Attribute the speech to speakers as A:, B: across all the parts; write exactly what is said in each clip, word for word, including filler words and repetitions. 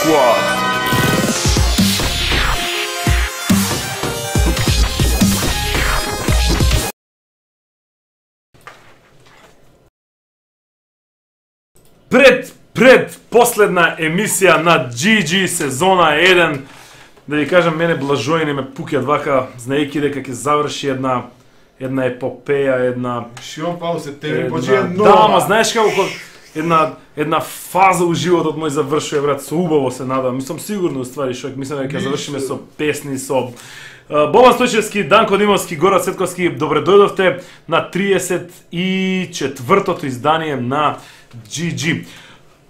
A: Squad. Пред пред последна емисија на Джи Джи сезона еден, да ви кажам, мене блажоини ме пукјат вака, знаејќи дека ќе заврши една една епопеја, една
B: Шион Паул се тебе почија
A: една,
B: нова.
A: да, ама знаеш како една една фаза у животот мој завршува, брат, со убаво се надам. Мислам сигурно уствари што мислам дека ќе завршиме со песни, со Uh, Бобан Стојчевски, Данко Димовски, Гора Цветковски, добре дојдовте на триесет и четвртото издание на Джи Джи.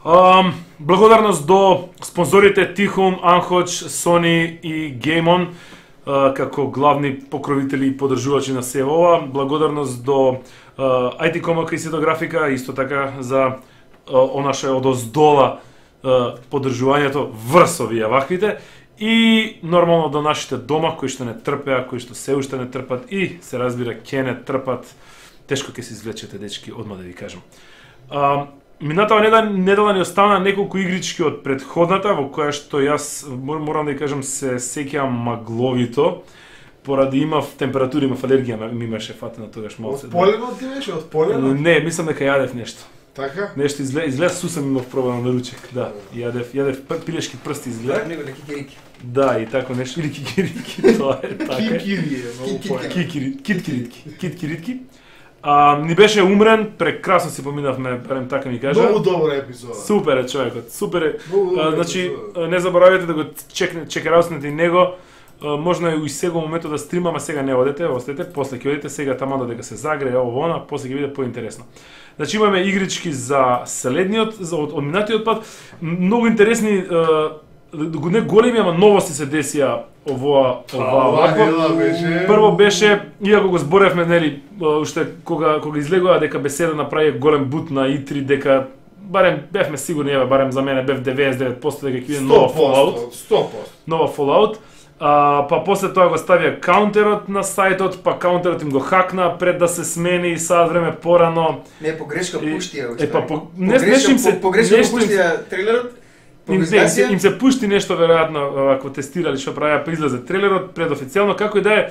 A: Um, благодарност до спонзорите Тихум, Анхоч, Сони и Геймон uh, како главни покровители и поддржувачи на се ова. Благодарност до uh, Ај Ти Комака и Ситографика, исто така за uh, онаше одоздола uh, поддржувањето врз овие ваквите. И нормално до нашите дома кои што не трпеа, кои што се уште не трпат и се разбира ќе не трпат. Тешко ќе се извлечете, дечки, одма да ви кажам. А, минатава недела, недела ни остана неколку игрички од предходната, во која што јас морам да ви кажам се сеќавам магловито, поради имав температура, имав алергија, ми имаше фатено тогаш малце.
B: Од полено ти беше, од полено?
A: Не, мислам дека јадев нешто.
B: Така?
A: Нешто изглед, изглед сусам имав пробано на ручек, да. Јадев, јадев пилешки прсти изглед.
C: Него кикирики.
A: Да, и тако нешто, или кикирики, тоа е така.
B: Кикири е, многу појако.
A: Кикири, киткиритки, киткиритки. А, ни беше умрен, прекрасно си поминавме, барем така ми кажа.
B: Многу добра епизода.
A: Супер е човекот, супер е.
B: Многу
A: А, значи,
B: епизода.
A: не заборавете да го чекне, чекерауснете и него. А, можно и сега моментот да стримаме, сега не одете, остете, после ќе одите, сега таму додека се загрее ово она, после ќе биде поинтересно. Значи имаме игрички за следниот, за од, од минатиот пат, многу интересни, а, не големи, ама новости се десија овоа оваа
B: Ова беше...
A: Прво беше, иако го зборевме, нели, уште кога кога излегува дека Беседа направи голем бут на И три, дека барем бевме сигурни, еве барем за мене бев деветдесет и девет проценти дека ќе биде нова Fallout,
B: сто проценти.
A: нова Fallout. А, па после тоа го ставија каунтерот на сајтот, па каунтерот им го хакна пред да се смени и сад време порано.
C: Не, погрешка пуштија.
A: Е па по, не нешто им се
C: погрешка
A: нешто им се-
C: пуштија трейлерот.
A: Им, не, им, се, им се пушти нешто веројатно ако тестирали што правеа па излезе трейлерот предофицијално, како и да е.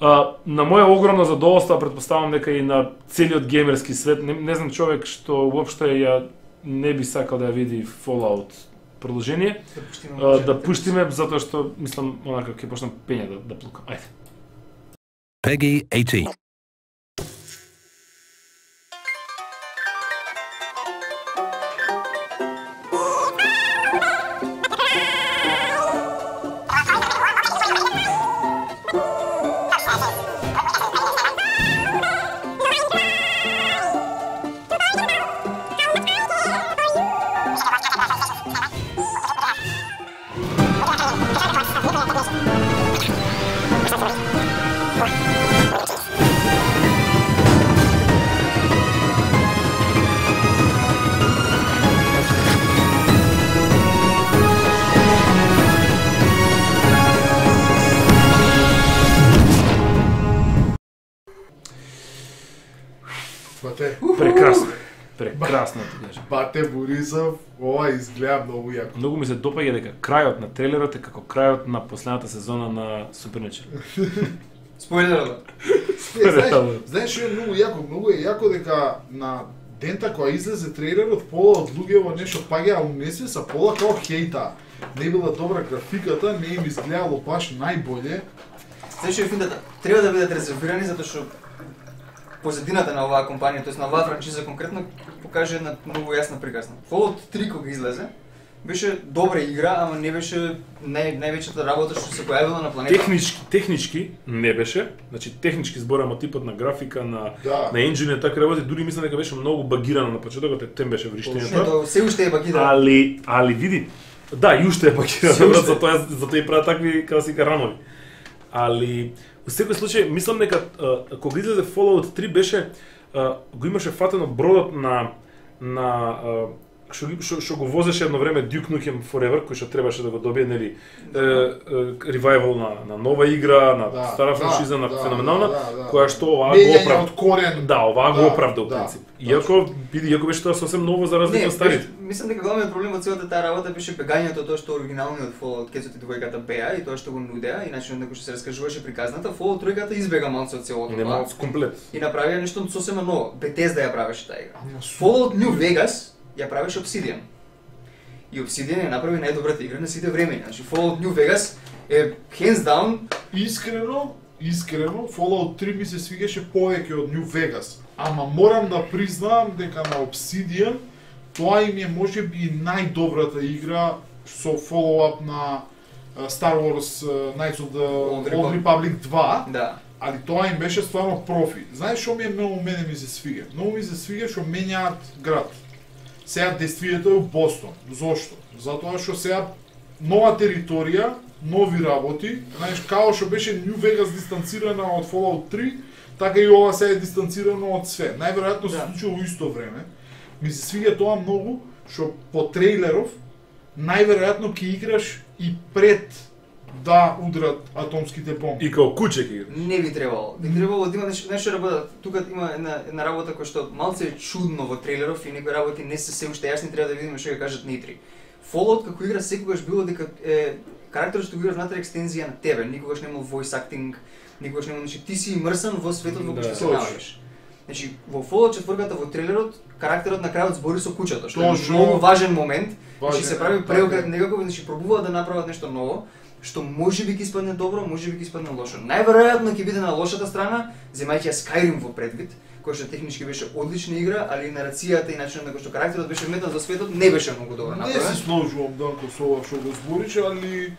A: А, на моја огромно задоволство, претпоставам дека и на целиот геймерски свет, не, не знам човек што уопште ја не би сакал да ја види Fallout продолжение, а, да пуштиме затоа што мислам онака ќе почнам пење да, да плукам. Ајде.
D: Peggy eighteen.
B: Бате,
A: Прекрасно. Прекрасно ти кажам.
B: Бате Борисов, ова изгледа многу јако.
A: Многу ми се допаѓа дека крајот на трейлерот е како крајот на последната сезона на Supernatural.
C: Спойлерот.
B: Не, знаеш, знаеш што е многу јако, многу е јако дека на дента која излезе трейлерот, пола од луѓе во нешто паѓаа унесе са пола као хејта. Не била добра графиката, не им изгледало баш најболje.
C: Знаеш што е финдата? Треба да бидат резервирани затоа што позадината на оваа компанија, тоест на оваа франчиза конкретно, покаже една многу јасна приказна. Fallout три кога излезе, беше добра игра, ама не беше нај, највеќата работа што се појавила на планетата.
A: Технички, технички не беше, значи технички зборам типот на графика, на
B: Да.
A: на енџини, така работи, дури мислам дека беше многу багирано на почетокот, тем беше вриштењето.
C: Ето, се уште е багирано.
A: Али, али види, да, и уште е
C: Се
A: багирано,
C: уште.
A: затоа затоа и прават такви како си рамови. Али во секој случај мислам дека а, кога излезе Fallout три беше а, го имаше фатено бродот на на а, што што што го возеше едно време Duke Nukem Forever, кој што требаше да го добие, нели, ревайвал на на нова игра, на
B: Да,
A: стара
B: да,
A: франшиза, на
B: да,
A: феноменална,
B: да, да, да.
A: која што оваа го
B: Меѓање
A: оправда.
B: од корен.
A: Да, оваа го
B: Да,
A: оправда во
B: да,
A: принцип.
B: точно.
A: Иако биде, иако беше тоа сосем ново за разлика
C: Не,
A: од старите.
C: беше- мислам дека главниот проблем од целата таа работа беше бегањето тоа што оригиналниот Fallout Кетот и двојката беа и тоа што го нудеа и начинот на кој што се раскажуваше приказната, Fallout тројката избега малку од целото
A: Нема
C: тоа
A: комплет.
C: и направија нешто сосема ново. Bethesda ја правеше таа игра.
B: Ама супер.
C: Fallout New Vegas ја правеше Obsidian. И Obsidian ја направи најдобрата игра на сите времења. Значи Fallout New Vegas е hands down.
B: Искрено, искрено, Fallout три ми се свигаше повеќе од New Vegas. Ама морам да признаам дека на Obsidian тоа им е можеби и најдобрата игра со follow-up на uh, Star Wars uh, Knights of the
C: Old
B: Old
C: Republic.
B: Republic два,
C: Да.
B: али тоа им беше стварно профи. Знаеш што ми е многу мене ми се свига? Многу ми се свига што менјаат град. Сега действието е у Бостон. Зошто? Затоа што сега нова територија, нови работи, знаеш, као што беше New Vegas дистанцирана од Fallout три, така и ова сега е дистанцирано од све. Најверојатно се
C: Да.
B: случило во исто време. Ми се свига тоа многу, што по трейлеров, најверојатно ќе играш и пред да удрат атомските бомби.
A: И као куче ќе игра.
C: Не би требало. Би требало да има нешто, нешто да бъде. Тука има една една работа која што малце е чудно во трейлеров и некои работи не се се уште јасни, треба да видиме што ќе кажат Нитри. Fallout како игра секогаш било дека е карактерот што го играш внатре екстензија на тебе, никогаш немал voice acting, никогаш немал, значи ти си имрсан во светот во кој
A: Да,
C: што се
B: точно.
C: наоѓаш. Значи во Fallout четврката во трейлерот карактерот на крајот збори со куќата, што е
B: Точно.
C: многу важен момент.
B: Важен,
C: Значи се прави
B: така
C: преокрет
B: е.
C: некако, значи пробуваат да направат нешто ново, што можеби ќе испадне добро, можеби ќе испадне лошо. Најверојатно ќе биде на лошата страна, земајќи ја Skyrim во предвид, која што технички беше одлична игра, али нарацијата и начинот на кој што карактерот беше вметнат во светот не беше многу добро
B: Не се
C: направен.
B: сложувам Данко со ова што го збориш, али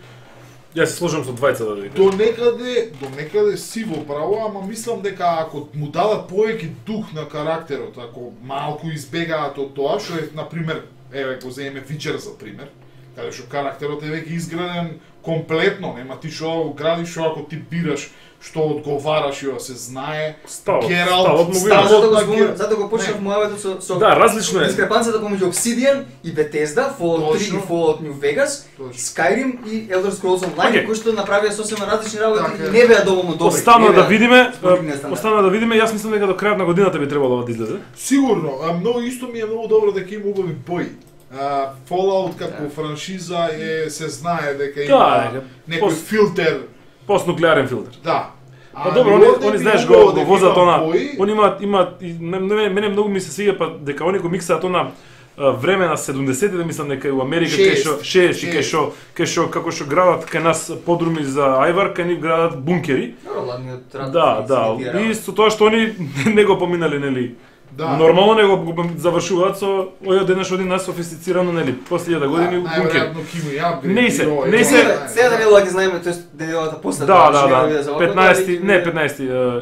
A: Јас се сложам со двајца да видам.
B: до некаде, до некаде си во право, ама мислам дека ако му дадат повеќе дух на карактерот, ако малку избегаат од тоа, што е, на пример, еве го земеме Witcher за пример, каде што карактерот е веќе изграден комплетно, нема ти што да го градиш, што ако ти бираш што одговараш и ова се знае.
A: Ставот,
B: Гералт,
A: ставот му го
B: ставот.
A: има.
C: Затоа го
B: на
C: спомнав,
B: Гер-
C: затоа го почнав
B: Не.
C: мојавето со со
A: Да, различно е.
C: дискрепанцијата помеѓу Obsidian и Bethesda, Fallout три и
B: Точно.
C: Fallout New Vegas,
B: Точно.
C: Skyrim и Elder Scrolls Online,
A: Окей.
C: кои што направија сосема различни работи
B: Така е.
C: и не беа доволно добри.
A: Остана
C: не
A: да
C: беа
A: видиме,
C: според нивниот стандард.
A: остана да видиме, јас мислам дека до крајот на годината би требало ова да излезе.
B: Сигурно, а многу исто ми е многу добро дека има убави бои. А, Fallout како
C: Да.
B: франшиза е се знае дека
A: Да,
B: има
A: дека
B: некој
A: пос-
B: филтер,
A: Постнуклеарен филтер.
B: да.
A: Па
B: А,
A: добро,
B: и
A: они,
B: овде
A: они
B: би
A: знаеш
B: убаво
A: го, го
B: дека
A: возат
B: има
A: она,
B: бои.
A: они имаат имаат и мене, мене многу ми се свиѓа па дека они го миксаат она а, време на седумдесетите, мислам дека и у Америка кај што
B: Шест.
A: шест и кај
B: Шест.
A: што кај што како што градат кај нас подруми за ајвар, кај нив градат бункери.
C: Добро, ладниот рад.
A: Да,
C: се
A: да.
C: имитира.
A: И со тоа што они не го поминале, нели?
B: Да.
A: Нормално него го завршуваат со ој денеш один најсофистицирано, нели, после илјада години
B: Да,
A: бункери.
B: најверојатно ќе има и апгрейд.
A: Не се,
B: и ова, и
A: не
B: ова,
A: се.
B: да, да,
C: Сега да не
B: да.
C: лаки знаеме, тоест денелата после
A: Да,
C: тоа,
A: да,
C: што ќе
A: да.
C: биде за овако,
A: петнаесети,
C: дали-
A: не петнаесети, е,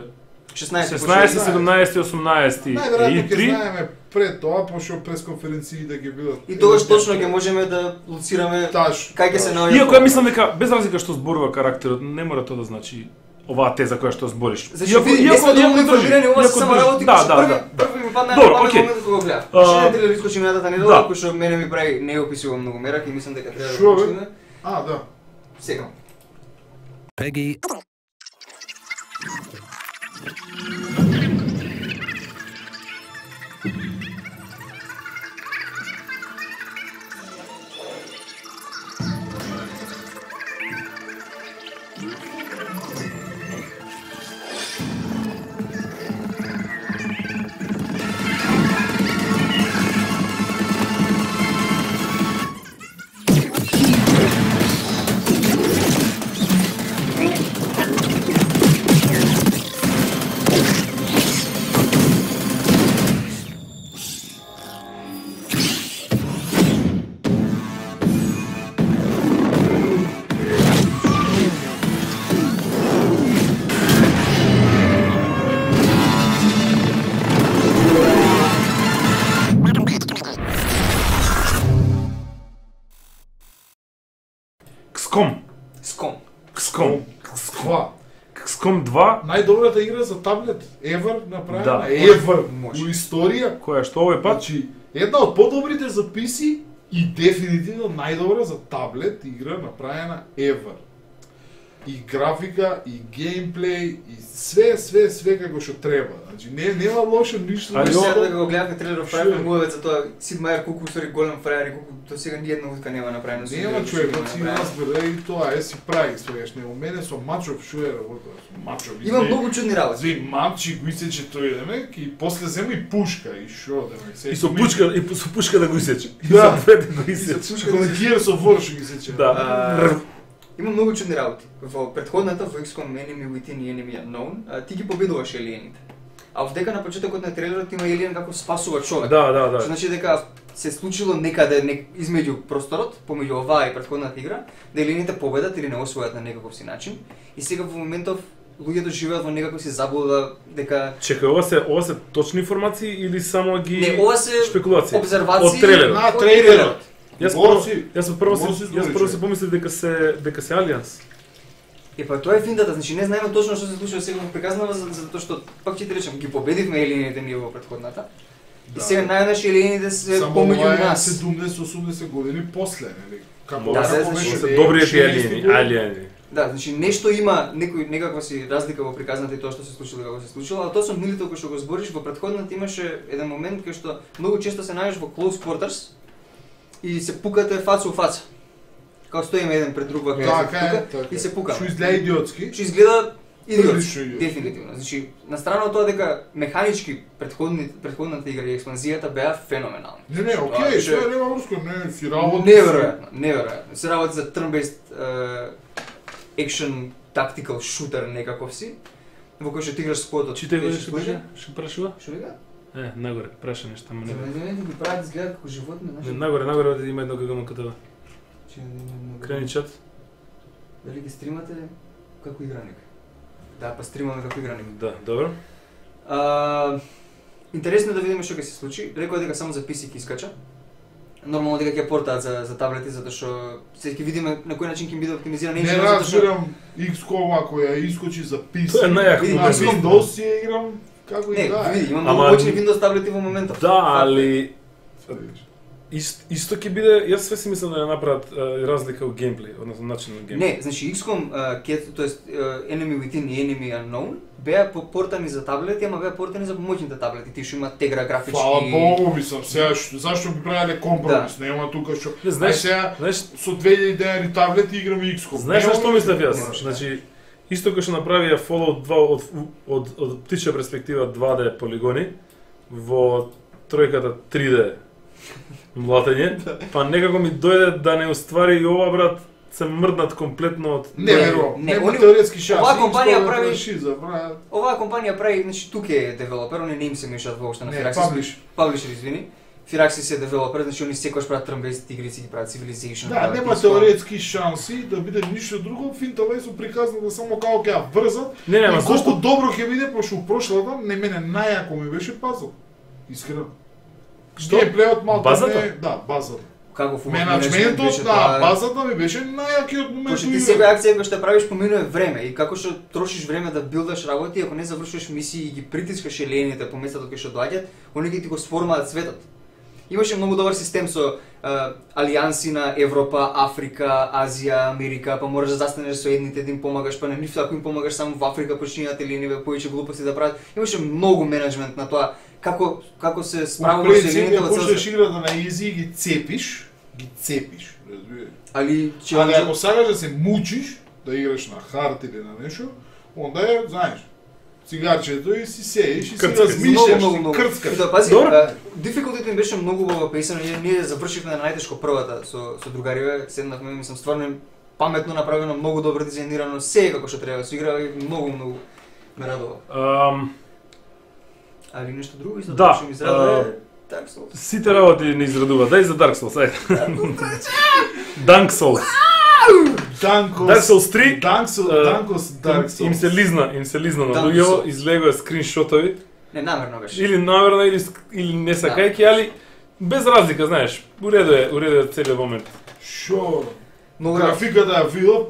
C: шеснаесети,
A: шеснаесети,
B: почнува.
A: седумнаесети, осумнаесети
B: Најверојатно
A: и
B: ќе
A: три.
B: знаеме пред тоа, пошто пресконференции да ги бидат.
C: И тогаш точно ќе можеме да луцираме
B: Таш.
C: кај ќе се наоѓа.
A: Иако ја мислам дека без разлика што зборува карактерот, не мора тоа да значи оваа теза која што збориш.
C: Зашто види, не сме доволно информирани, ова се само работи
A: да,
C: кои што
A: да,
C: први
A: да.
C: први ми падна
A: Добро,
C: на памет
A: окей.
C: моментот кога го гледав.
A: А,
C: Ще не треба да искочиме јадата недела,
A: да.
C: кој што мене ми прави не описува многу мерак и мислам дека треба да
B: Шо,
C: го
B: бе?
C: почнеме.
B: А, да.
C: Сега.
D: Peggy
A: Кском.
C: Ском.
A: Кском.
B: Ква?
A: Кском два,
B: Најдобрата игра за таблет ever направена,
A: Да.
B: ever
C: Може.
B: у историја.
A: која што овој пат
B: Значи, Една од подобрите за пи си и дефинитивно најдобра за таблет игра направена ever. И графика, и геймплей, и све, све, све како што треба. Значи, не, нема лошо ништо.
C: Али
B: ништо.
C: сега да го гледавме трейлерот, правиме муавец за тоа Сид Мајер колку устари голем фрајер и колку до сега ни една утка нема направено.
B: Нема човек, да си разбере и тоа, е си прави свегаш. Не, у мене со Мачов шо е работа, со Мачов.
C: Има многу чудни работи.
B: Зви мачи го исече тој демек и после зема и пушка и шо демек.
A: И со пушка, и со пушка да го исече.
B: Да.
A: И со двете го исече.
B: Како Gears of War што ги исече.
A: Да.
C: Има многу чудни работи. Во претходната во икс ком Enemy Within и Enemy Unknown, а, ти ги победуваш елиените. А вдека на почетокот на трейлерот има елиен како спасува човек.
A: Да, да, да.
C: Што значи дека се случило некаде не, измеѓу просторот, помеѓу оваа и претходната игра, да елиените победат или не освојат на некаков си начин. И сега во моментов луѓето живеат во некаква си заблуда дека
A: Чекај, ова се ова се точни информации или само ги
C: не, ова се
A: спекулации?
C: обзервации
A: Од трейлерот.
B: На трейлерот.
A: Јас прво,
B: Моси-
A: јас прво се
B: моси
A: јас
B: збори,
A: прво се
B: човек.
A: помислив дека се дека се Алианс.
C: Е па тоа е финтата, значи не знаеме точно што се случува сега во приказнава за затоа што пак ќе ти речам, ги победивме елиените ние во претходната. И
B: Да.
C: сега најнаш елиените се
B: Само
C: помеѓу
B: ова е
C: нас.
B: седумдесет-осумдесет години после, нели? Како
C: Да,
B: како
C: да,
B: беше
C: значи,
A: Се
B: не,
A: добриот
B: шеесте
A: алиени,
B: години.
A: алиени.
C: Да, значи нешто има, некој некаква си разлика во приказната и тоа што се случило како се случило, а тоа со милито кој што го збориш во претходната имаше еден момент кај што многу често се најдеш во close quarters и се пукате фаца у фаца. Као стоиме еден пред друг вака
B: Така е,
C: тука
B: така.
C: и се пукаме.
B: Што изгледа идиотски.
C: Што изгледа идиотски,
B: Прилично идиотски.
C: дефинитивно. Значи, на страна од тоа дека механички претходни претходната игра и експанзијата беа феноменални.
B: Не, не,
C: Тоа
B: окей,
C: беше
B: тоа нема врска, не, си работи.
C: Неверојатно, неверојатно. Се работи за turn-based action tactical shooter некаков си, во кој што ти играш сквотот.
A: Читај го
C: Беше
A: што
C: служи?
A: беше? Што прашува?
C: Што вика?
A: Е, нагоре, праша нешто, ама не.
C: Не, не, ги прават изгледа како животни,
A: Не,
C: знаеш.
A: нагоре, нагоре има едно ГГМ КТВ.
C: Че не, не, не.
A: Крени чат.
C: Дали ги стримате како играник? Да, па стримаме како играник.
A: Да, добро.
C: А, интересно е да видиме што ќе се случи. Рекоа дека само за пи си ќе искача. Нормално дека ќе портаат за за таблети затоа што се ќе видиме на кој начин ќе биде оптимизиран
B: Не
C: енџинот затоа што
B: разбирам икс ком ако ја искочи за пи си.
A: Тоа е најако
C: Види,
B: На
C: X COM.
B: Windows си ја играм како
C: не,
B: и да.
C: види, има
A: Ама-
C: многу почни Windows таблети во моментов.
A: Да, али Ист, исто ќе биде, јас све си мислам да ја направат е, разлика во геймплей, односно начин на геймплей.
C: Не, значи икс ком, ке, тоест uh, Enemy Within и Enemy Unknown беа портани за таблети, ама беа портани за помоќните таблети, тие што имаат тегра графички.
B: Фала Богу, мислам, сега што- зашто би правеле компромис, нема тука што.
A: Не, знаеш,
B: Ај сега
A: знаеш,
B: со две илјади денари таблет играм икс ком.
A: знаеш на што мислев јас?
C: Немаш, да.
A: Значи, исто кој што направија Fallout два од од од птичја перспектива два Д полигони во тројката три Д млатење, па некако ми дојде да не уствари и ова брат се мрднат комплетно од
B: Не,
C: Не,
B: верувам,
C: не,
B: нема
C: они-
B: теоретски шанси.
C: оваа компанија прави-
B: шиза, брат.
C: Оваа компанија прави, значи тука е девелопер, они не им се мешаат воопшто на
B: Не,
C: Firaxis.
B: publish.
C: Publisher, извини. Firaxis е девелопер, значи они секогаш прават turn-based игри, си ги прават Civilization.
B: Да,
C: прават
B: нема
C: икс ком.
B: теоретски шанси да биде ништо друго, финтава и со приказна да само како ќе ја врзат.
A: Не, не,
B: И
A: ама
B: колку
A: зашто?
B: добро ќе биде, пошто у прошлата не мене најако ми беше пазл. Искрено.
A: Што?
B: Геймплејот малку
A: Базата?
B: не, да, базата.
C: Како фу
B: Менеджментот на базата ми беше најакиот момент
C: Пошто
B: у
C: ти
B: играта.
C: сега акција која што правиш поминува време и како што трошиш време да билдаш работи, ако не завршуваш мисии и ги притискаш елените по местото кај што доаѓаат, они ги ти го сформаат светот. Имаше многу добар систем со а, алијанси на Европа, Африка, Азија, Америка, па можеш да застанеш со едните да им помагаш, па на нив ако им помагаш само во Африка починаат елениве повеќе глупости да прават. Имаше многу менеджмент на тоа како како се
B: Во
C: справуваш со
B: принцип,
C: елените
B: ја
C: во
B: почнеш
C: целост.
B: играта на изи и ги цепиш, ги цепиш, разбираш.
C: Али че
B: Али ако сакаш да се мучиш, да играш на хард или на нешто, онда е, знаеш, цигарчето и си сееш и си
A: Крцкаш.
B: размишляш,
C: Многу,
B: си
C: многу.
B: крцкаш.
C: Да, пази,
A: Добро.
C: дификултите им беше многу во песен, ние, ние завршивме на најтешко првата со со другариве, седнавме, мислам стварно паметно направено, многу добро дизајнирано, се како што треба да се игра и многу многу ме радува.
A: Ам,
C: Али нешто друго исто
A: Да,
C: што ми израдува
A: а,
C: е Dark Souls.
A: сите работи не израдува. Дај за Dark Souls, ајде. Dark Souls.
B: Данкос,
A: Dark Souls три,
B: Данкос,
A: а,
B: Данкос, Dark Souls.
A: Им се лизна, им се лизна на
C: Dark
A: луѓево,
C: Souls.
A: излегува скриншотови,
C: Не, намерно беше.
A: или намерно или ск- или не сакајќи, али без разлика, знаеш. Уредо е, уредо е целиот момент.
B: Шо?
C: Многу
B: Графиката ја видов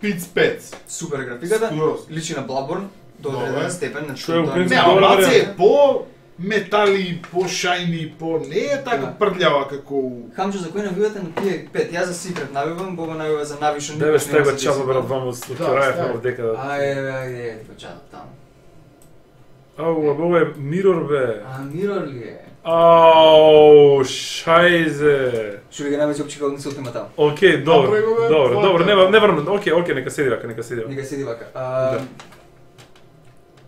B: пиц пет.
C: супер графиката,
B: Скроз.
C: личи на Bloodborne до
B: Добре.
C: одреден степен, значи
A: Што е у
C: тоа
A: принцип
B: Не,
C: не-
A: добра
B: ама е
A: варијанта.
B: по метали, по-шајни, по не е така
C: Да.
B: прљава како
C: Хамчо, за кој навивате на тие пет? Јас за Secret навивам, Боба навива за Navi, што
A: Деве
C: никош нема
A: стега
C: да се
A: чапа
C: деси.
A: брат вам од
B: Да,
A: Рајев
B: стега.
A: во декада.
C: Ајде, ајде, ајде, ти початам таму.
A: Ау, а ова е Мирор бе.
C: А, Мирор ли е?
A: Ау, шајзе.
C: Што ли ги навеќе опчика од нисот има таму?
A: Океј, добро.
B: Направи го, бе,
A: Добро,
B: твојата.
A: добро, нема не врнам. Океј, океј, нека седи вака, нека седи вака.
C: Нека седи вака. А,
A: Да.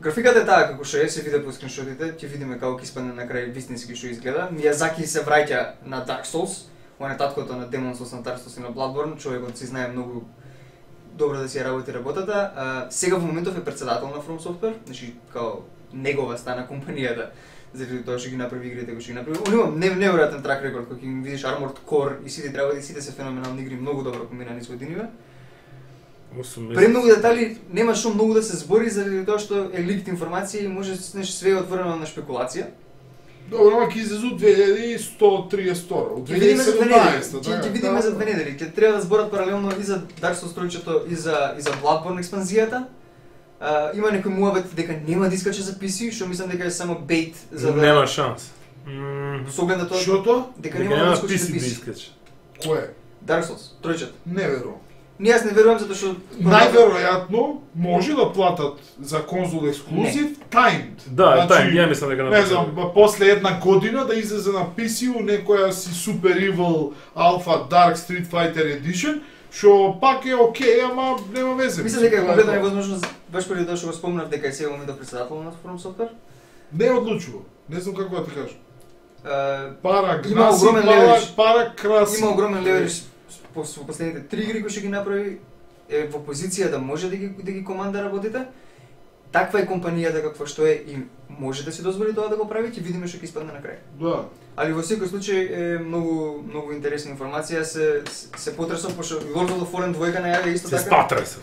C: Графиката е таа како што е, се виде по скриншотите, ќе видиме како ќе испадне на крај вистински што изгледа. Мијазаки се враќа на Dark Souls, он е таткото на Demon Souls, на Dark Souls и на Bloodborne, човекот си знае многу добро да си ја работи работата. А, сега во моментов е претседател на From Software, значи као негова стана компанијата, заради тоа што ги направи игрите кои што ги направи. Он има неверојатен трак рекорд, кога ќе видиш Armored Core и сите работи, сите се феноменални игри, многу добро комбинирани со единиве.
A: осум
C: Премногу детали нема што многу да се збори заради тоа што е ликт информација и може нешто све е отворено на шпекулација.
B: Добро, ама ќе излезу две илјади и сто триесет втора.
C: Ќе видиме за две недели.
B: седумнаесета,
C: Ќе ќе
B: така,
C: видиме
B: да.
C: за две недели. Ќе треба да зборат паралелно и за Dark Souls тројчето и за и за Bloodborne експанзијата. А, има некој муабет дека нема да искаче за пи си, што мислам дека е само бейт за да
A: Нема шанс. Мм,
C: со оглед на тоа
B: Што тоа?
C: дека
A: дека
C: нема да
A: нема
C: искаче за
A: писи
C: пи
A: да
C: си.
A: искаче.
B: Кое?
C: Dark Souls тројчето.
B: Не верувам.
C: Ние јас не верувам затоа што
B: Најверојатно може да платат за конзол ексклузив timed.
A: Да, тај, ја мислам дека
B: Не знам, ба- после една година да излезе на пи си у некоја си Super Evil Alpha Dark Street Fighter Edition, што пак е окей, ама нема везе.
C: мислам дека е
B: Тоа
C: конкретно
B: тоа.
C: невозможно баш преди тоа што го спомнав дека е сега моментов претседател на From Software.
B: Не е одлучува. Не знам како да ти кажам.
C: А,
B: Пара
C: Има
B: гнаси,
C: огромен
B: пара,
C: леверидж.
B: пара краси.
C: Има огромен леверидж по со последните три игри кои што ги направи, е во позиција да може да ги да ги команда работите. Таква е компанијата каква што е и може да си дозволи тоа да го прави, ќе видиме што ќе испадне на крај.
B: Да.
C: Али во секој случај е многу многу интересна информација, се се потресов пошто Lord of the Fallen двојка најавија исто
A: Се
C: така.
A: спатресов.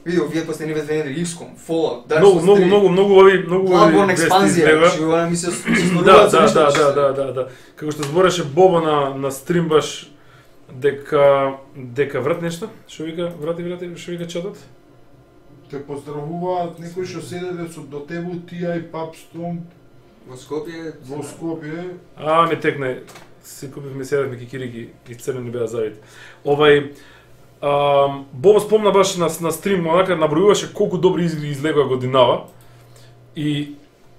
C: Видео вие последниве две недели икс ком, Fallout, Dark
A: Многу,
C: Souls
A: многу,
C: три,
A: многу, многу ови, многу
C: Bloodborne
A: вести
C: експанзија,
A: излега.
C: значи она ми се се
A: Да,
C: зборуваат за
A: да,
C: ништо
A: да,
C: што
A: да,
C: се-
A: да, да, да. Како што збореше Боба на на стрим баш дека дека врат нешто? Што вика? Врати, врати, што вика чатот?
B: Те поздравуваат некои што седеле со до тебе ти ај Папстон
C: Во Скопје,
B: во Скопје.
A: А, ми текна. Си купивме седавме кикирики и црвени беа завити. Овај ам, Боба спомна баш на на стрим, онака набројуваше колку добри игри излегоа годинава. И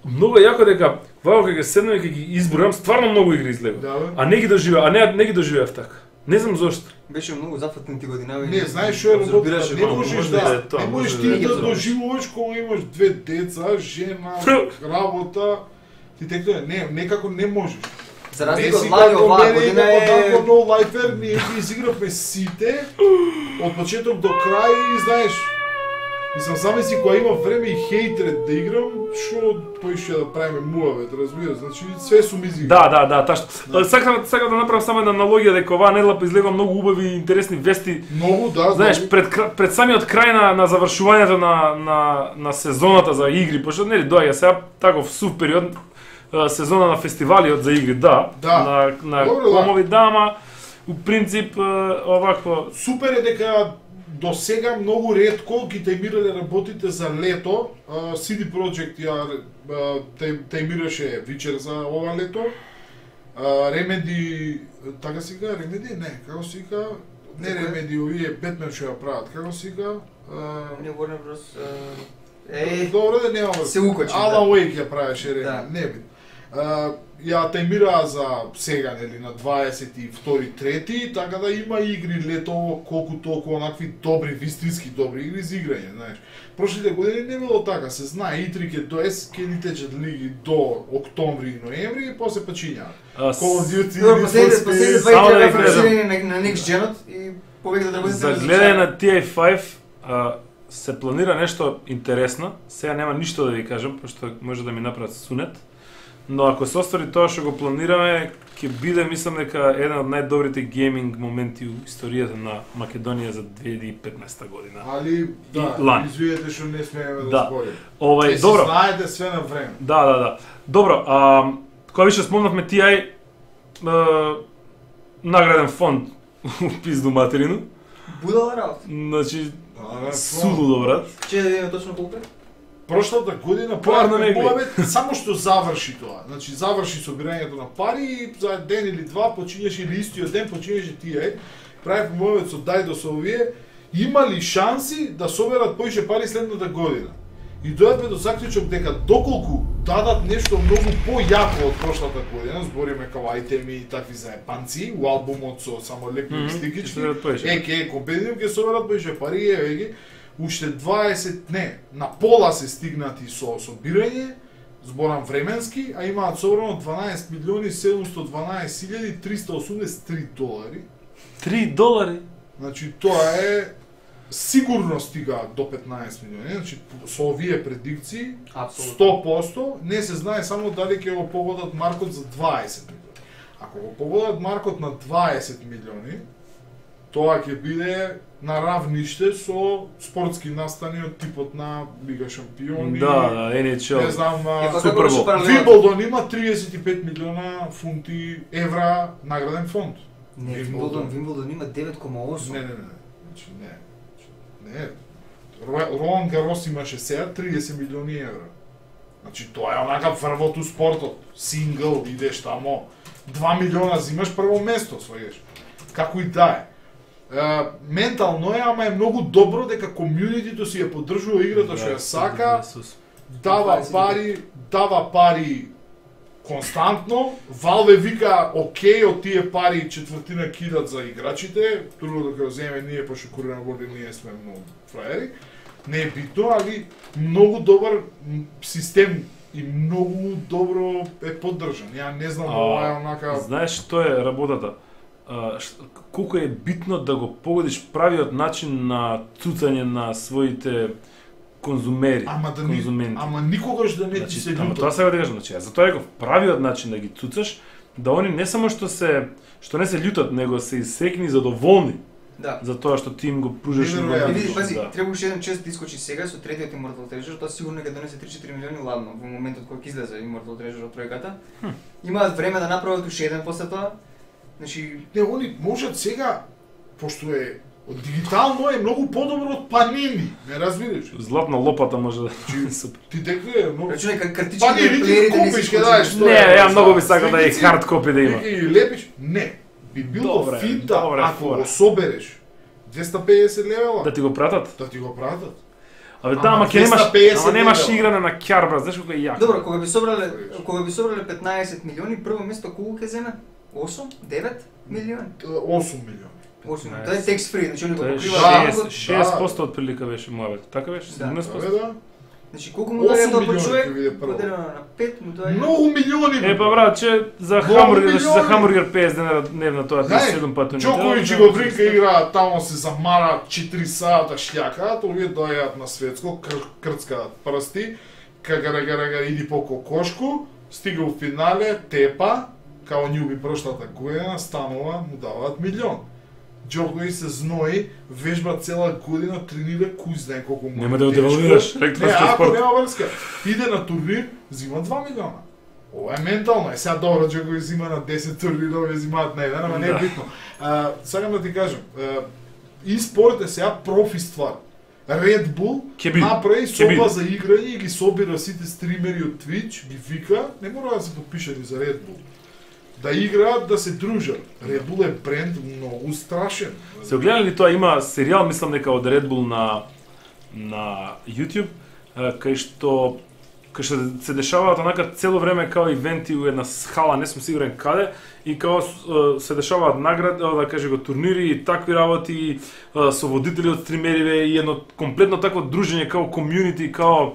A: многу е јако дека вака кога ќе седнеме и ќе ги избројам, стварно многу игри излегоа.
B: Да, бе.
A: А не ги доживеа, а не не ги доживеав така. Не знам зошто.
C: беше многу зафатнати годинави.
B: Не, знаеш што е работа,
C: Абсорбираше
B: не
C: малку,
B: можеш
A: може
B: да,
A: да е тоа,
B: не можеш
A: може
B: ти
A: да е
B: да
A: тоа.
B: доживуваш кога имаш две деца, жена, работа, ти текто не, некако не можеш.
C: За
B: Не
C: разлика
B: си
C: од Лани
B: како
C: оваа
B: мене и
C: година
B: како
C: е
B: Данко No Lifer, ние ги изигравме сите од почеток до крај и знаеш, мислам сами си кога има време и хейтрет да играм, што тој ќе да правиме муавет, разбираш, значи све сум изиграл.
A: Да, да, да, ташто. Сакам сакам да направам само една аналогија дека оваа недела излегува многу убави и интересни вести.
B: Многу, да,
A: Знаеш,
B: многу.
A: пред кра- пред самиот крај на на завршувањето на на на сезоната за игри, пошто нели доаѓа сега таков сув период, а, сезона на фестивалиот за игри, да,
B: Да.
A: на на
B: Добро, да.
A: комови, да, ама у принцип а, овакво
B: Супер е дека до сега многу ретко ги тајмирале работите за лето. А, си ди Projekt ја а, тај- тајмираше вечер за ова лето. А, Remedy, така си ка, Remedy? Не, како си ка? Не
C: За кој?
B: Remedy, овие Batman што ја прават, како си ка? А,
C: Не Warner Bros. Е,
B: Добро да нема.
C: се укочи,
B: Alan
C: да.
B: Wake ја правеше Remedy,
C: Да.
B: не би. А, ја тајмираа за сега, нели, на дваесет и втори трети, така да има игри лето, колку толку онакви добри, вистински добри игри за играње, знаеш. Прошлите години не било така, се знае, и три ќе доес, ќе ни течат лиги до октомври и ноември и после почињаат.
A: а, с-
B: Call of Duty,
C: Добро,
B: Need for
C: последните последните
B: Speed,
C: два
A: само да
C: игри
A: ви
C: фокусирани на на Next Gen и повеќе да работите
A: За гледање на Ти Ей пет а, се планира нешто интересно. Сега нема ништо да ви кажам, пошто може да ми направат сунет. Но ако се оствари тоа што го планираме, ќе биде, мислам дека еден од најдобрите гейминг моменти у историјата на Македонија за две илјади и петнаесета година.
B: Али, да,
A: И лани.
B: извиете што не смееме да,
A: Да.
B: зборим.
A: Овај,
B: Е,
A: добро.
B: си знаете све на време.
A: Да, да, да. Добро, а кога више спомнавме Ти Ај, а, награден фонд у пизду материну.
C: Будала работа.
A: Значи,
B: Да, да,
A: судо добра.
C: Че да видиме точно колку е?
B: прошлата година
A: Поарно не гледа.
B: Моабет само што заврши тоа. Значи заврши собирањето на пари и за ден или два почињаше или истиот ден почињаше тие. Прави Моабет со Дајдо со овие имали шанси да соберат поише пари следната година. И дојдовме до заклучок дека доколку дадат нешто многу појако од прошлата година, збориме како ајтеми и такви заепанци, у албумот со само лепи mm -hmm. стикички, еке, компетитив ќе соберат поише пари, еве ги, уште дваесет, не, на пола се стигнати со собирање, зборам временски, а имаат собрано дванаесет милиони седумстотини и дванаесет илјади триста осумдесет и три долари.
A: три долари?
B: Значи тоа е сигурно стига до петнаесет милиони, значи со овие предикции сто проценти не се знае само дали ќе го погодат маркот за дваесет милиони. Ако го погодат маркот на дваесет милиони, тоа ќе биде на равниште со спортски настани од типот на Лига шампиони.
A: Да, да, Ен Ейч Ел.
B: Не знам,
A: Супербол.
B: Вимблдон има триесет и пет милиона фунти евра награден фонд.
C: Не, Вимблдон, Вимблдон има девет кома осум.
B: Не, не, не. Значи не. Не. Ролан Гарос имаше сега триесет милиони евра. Значи тоа е онака врвот у спортот. Сингл, идеш тамо. два милиона зимаш прво место, сваѓаш. Како и да е. Uh, ментално е, ама е многу добро дека комјунитито си ја поддржува играта што ја сака, дава пари, дава пари константно, Valve вика окей од тие пари четвртина кидат за играчите, другото да го земе ние пошто курена води ние сме многу фраери, не е битно, али многу добар систем и многу добро е поддржан. Ја не знам ова е онака.
A: Знаеш што е работата? Колку е битно да го погодиш правиот начин на цуцање на своите конзумери,
B: ама да
A: конзументи.
B: Ни, ама никогаш да не
A: значи,
B: ти се
A: ама
B: лутат.
A: тоа сега да кажам, значи, затоа е го правиот начин да ги цуцаш, да они не само што се што не се љутат, него се исекни задоволни.
C: Да.
A: За тоа што ти им го пружаш
B: Не,
A: и
B: не,
A: го
B: не,
C: Види, пази,
A: да.
C: требаше еден чест да искочи сега со третиот Immortal Treasure, тоа сигурно ќе донесе три-четири милиони ладно во моментот кога ќе излезе Immortal Treasure од тројката.
A: Хм.
C: Имаат време да направат уште еден после тоа. Значи,
B: Не, они можат сега, пошто е од дигитално е многу подобро од панини, не разбираш?
A: Златна лопата може да супер.
B: Ти дека е многу...
C: рачунај как картички
B: Панини ти
C: плеерите не
B: купиш,
C: се
B: ќе даеш
C: искочи.
A: Не, ја многу би сакал да е
B: Сликици,
A: хард копи да има.
B: И лепиш, не. Би било
A: Добре,
B: финта
A: добре,
B: ако
A: фора.
B: го собереш двеста и педесет левела,
A: Да ти го пратат?
B: да ти го пратат.
A: Абе
B: Ама
A: да, ама ќе немаш,
B: двеста и педесет
A: ама немаш
B: левела.
A: игране на ќарбра, знаеш колку е јако.
C: Добро, кога би собрале, кога би собрале петнаесет милиони, прво место колку ќе земе? осум, девет милиони.
B: осум милиони.
C: осум.
A: петнаесет.
C: Тоа е tax free, значи они го
A: Тоа е
C: покриваат.
A: шест проценти од прилика беше мојавет. Така беше?
C: Да.
A: седумнаесет
B: Абе
A: проценти?
B: да.
C: Значи колку му даде
B: осум
C: тоа по
B: милиони
C: човек?
B: ќе биде прво.
C: Поделено на пет му тоа е.
B: Многу милиони.
A: Е па брат, че за
B: Многу
A: хамбургер, значи за
B: милиони.
A: хамбургер педесет денара дневно тоа
B: Знај,
A: седум пати.
B: Джоковиќ и го дринка игра, тамо се замара четири сата шљакаат, овие дојаат на светско, кр крцкаат прсти, кагарагарага иди по кокошку, стига у финале, тепа, као њуби прошлата година, станува, му даваат милион. Джоковиќ се знои, вежба цела година, тренира, кој знае колку му.
A: Нема да го
B: тешко.
A: девалвираш,
B: Не,
A: електронски
B: ако
A: спорт.
B: нема врска, иде на турнир, зима два милиона. Ова е ментално, е сега добро, Джоковиќ зима на десет турнирови, зимаат на еден, ама не е
A: Да.
B: битно. А, сакам да ти кажам, и спорт е сега профи ствар. Red Bull
A: Ќе биде.
B: направи
A: Ќе биде.
B: соба за играње и ги собира сите стримери од Twitch, ги вика, не мора да се подпишани за Red Bull. Да играат, да се дружат. Red Bull е бренд многу страшен.
A: Се огледали ли тоа, има серијал, мислам дека од Red Bull на на YouTube, а, кај што кај што се дешаваат онака цело време као ивенти у една хала, не сум сигурен каде, и као а, се дешаваат награди, да каже го турнири и такви работи, а, со водители од стримериве и едно комплетно такво дружење као комјунити, као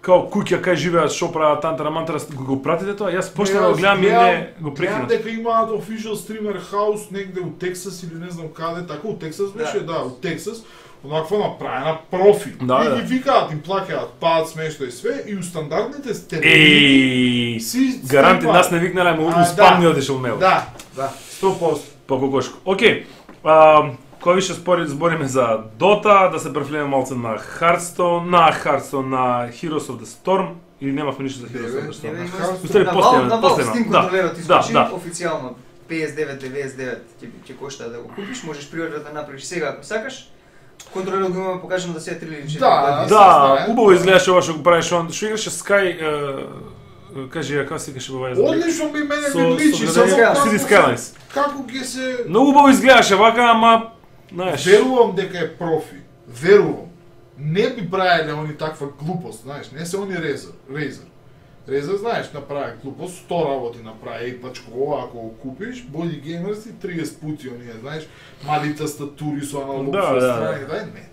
A: као куќа кај живеат, шо прават тантара мантара, го, го пратите тоа? Јас почнав да го гледам и не го
B: Гледам
A: прекинав.
B: дека имаат official streamer house негде у Тексас или не знам каде, така у Тексас беше, да, у Тексас. Онаква направена профи.
A: Да,
B: и
A: да.
B: ги викаат, им плаќаат паат смешно и све, и у стандардните стереотипи
A: Еј,
B: си
A: гаранти
B: скрипаат.
A: нас не викнале, му
B: А,
A: спам
B: да.
A: ни одишел мейл.
B: Да, да, сто проценти.
A: По кокошко. Океј. А, кој више спори збориме за Dota, да се префлеме малце на Hearthstone, на Hearthstone, на Heroes of the Storm, или немавме ништо за Heroes of the
C: Не,
A: Storm?
C: не,
B: На
C: има-
B: Hearthstone.
A: Устари,
C: на
A: после,
C: Valve- на
A: после
C: Valve
A: има.
C: Steam
A: Да,
C: контролерот
A: да,
C: искочи
A: да.
C: официјално петдесет и девет деведесет и девет ќе ќе кошта да го купиш, можеш приоритет да направиш сега ако сакаш. контролерот го имаме покажано да се е три или четири.
B: Да,
A: Да, убаво изгледаше ова што го правиш он, што играше Sky, кажи ја како се викаше ова јазик.
B: Одлично ми мене
A: Со-
B: ми личи,
A: со
B: само
A: City
B: како се-
A: Skylines.
B: Како ќе се
A: Многу убаво изгледаше вака, ама знаеш.
B: верувам дека е профи. Верувам. Не би правеле они таква глупост, знаеш, не се они Razer, Razer. Razer, знаеш, направи глупост, сто работи направи, и пачко ова, ако го купиш, боди геймерси, триесет пути оние, знаеш, мали тастатури со аналог
A: Да,
B: со
A: да,
B: страни, да, не.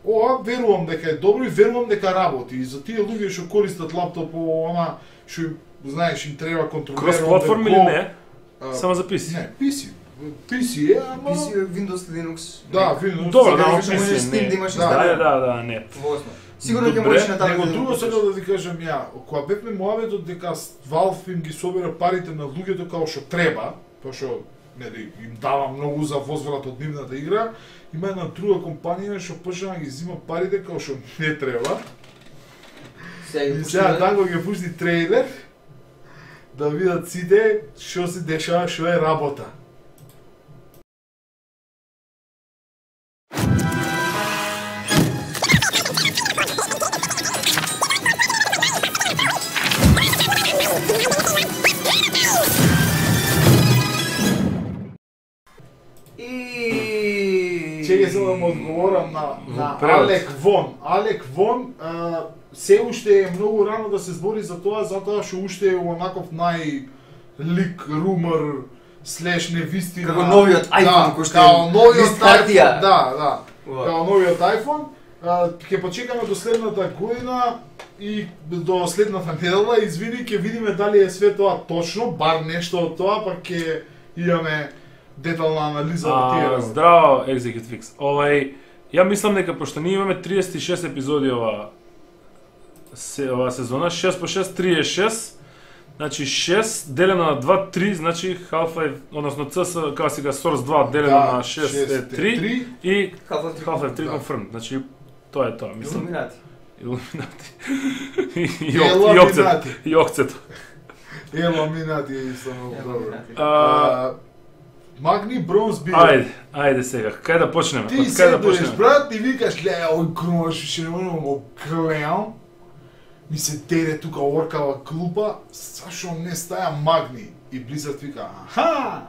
B: Ова, верувам дека е добро и верувам дека работи. И за тие луѓе што користат лаптоп, она, што, им, знаеш, им треба контролер.
A: Крос платформ или не? Само за пи си.
B: Не, пи си. пи си е, ама...
C: Пи си, Windows, Linux.
B: Да, Windows.
A: Добро,
C: Сега
A: да,
C: викаш,
A: пи си,
C: можеш Steam
A: не.
C: да имаш
B: Да,
A: Да,
C: инсталиран.
A: да, да, не.
C: Восно. Сигурно ќе
A: Добре,
C: можеш на таблет
B: Него
C: да
B: друго
C: го
B: сега
C: купиш.
B: да ви кажам ја, кога бевме муабетот дека Valve им ги собира парите на луѓето како што треба, пошто нели им дава многу за возврат од нивната игра, има една друга компанија што почна да ги зима парите како што не треба.
C: Сега
B: И
C: ги
B: сега
C: пуштиме.
B: Данго ќе пусти трейлер да видат сите што се дешава, што е работа.
C: И...
B: Чеќе се да му одговорам на, на
A: превод.
B: Алек Вон. Алек Вон, а, се уште е многу рано да се збори за тоа, затоа што уште е онаков нај-лик, румор, слеш невистина.
C: Како новиот iPhone,
B: да,
C: кој што
B: као
C: е
B: новиот
C: лист хартија.
B: iPhone, да, да.
C: Ова.
B: Као новиот iPhone. А, ќе почекаме до следната година и до следната недела, извини, ќе видиме дали е све тоа точно, бар нешто од тоа, па ќе имаме детална анализа од тие
A: А,
B: работи.
A: здраво, Execute Fix. Овај, ја мислам дека пошто ние имаме триесет и шест епизоди ова се ова сезона, шест по шест, триесет и шест. Значи шест делено на два, три, значи Half-Life, односно си ес, како сега Source два делено
B: Да,
A: на шест е
B: шест е
A: три
B: три.
A: и
C: Half-Life три.
A: Half-Life три
B: Да.
A: confirmed. Значи тоа е тоа, мислам.
C: Илуминати.
A: Илуминати. И и ок- и окцет.
B: Илуминати.
A: И окцето.
B: Илуминати е исто многу добро.
C: Илуминати.
A: А,
B: А, Магни Бронз бил.
A: Ајде, ајде сега, кај да почнеме?
B: Ти
A: Од
B: се
A: кај да
B: доеш,
A: почнеме?
B: брат, и викаш, ле, ој кромаш, ще не можем го гледам. Ми се деде тука оркава клупа, зашо не стаја Магни? И Blizzard вика, аха,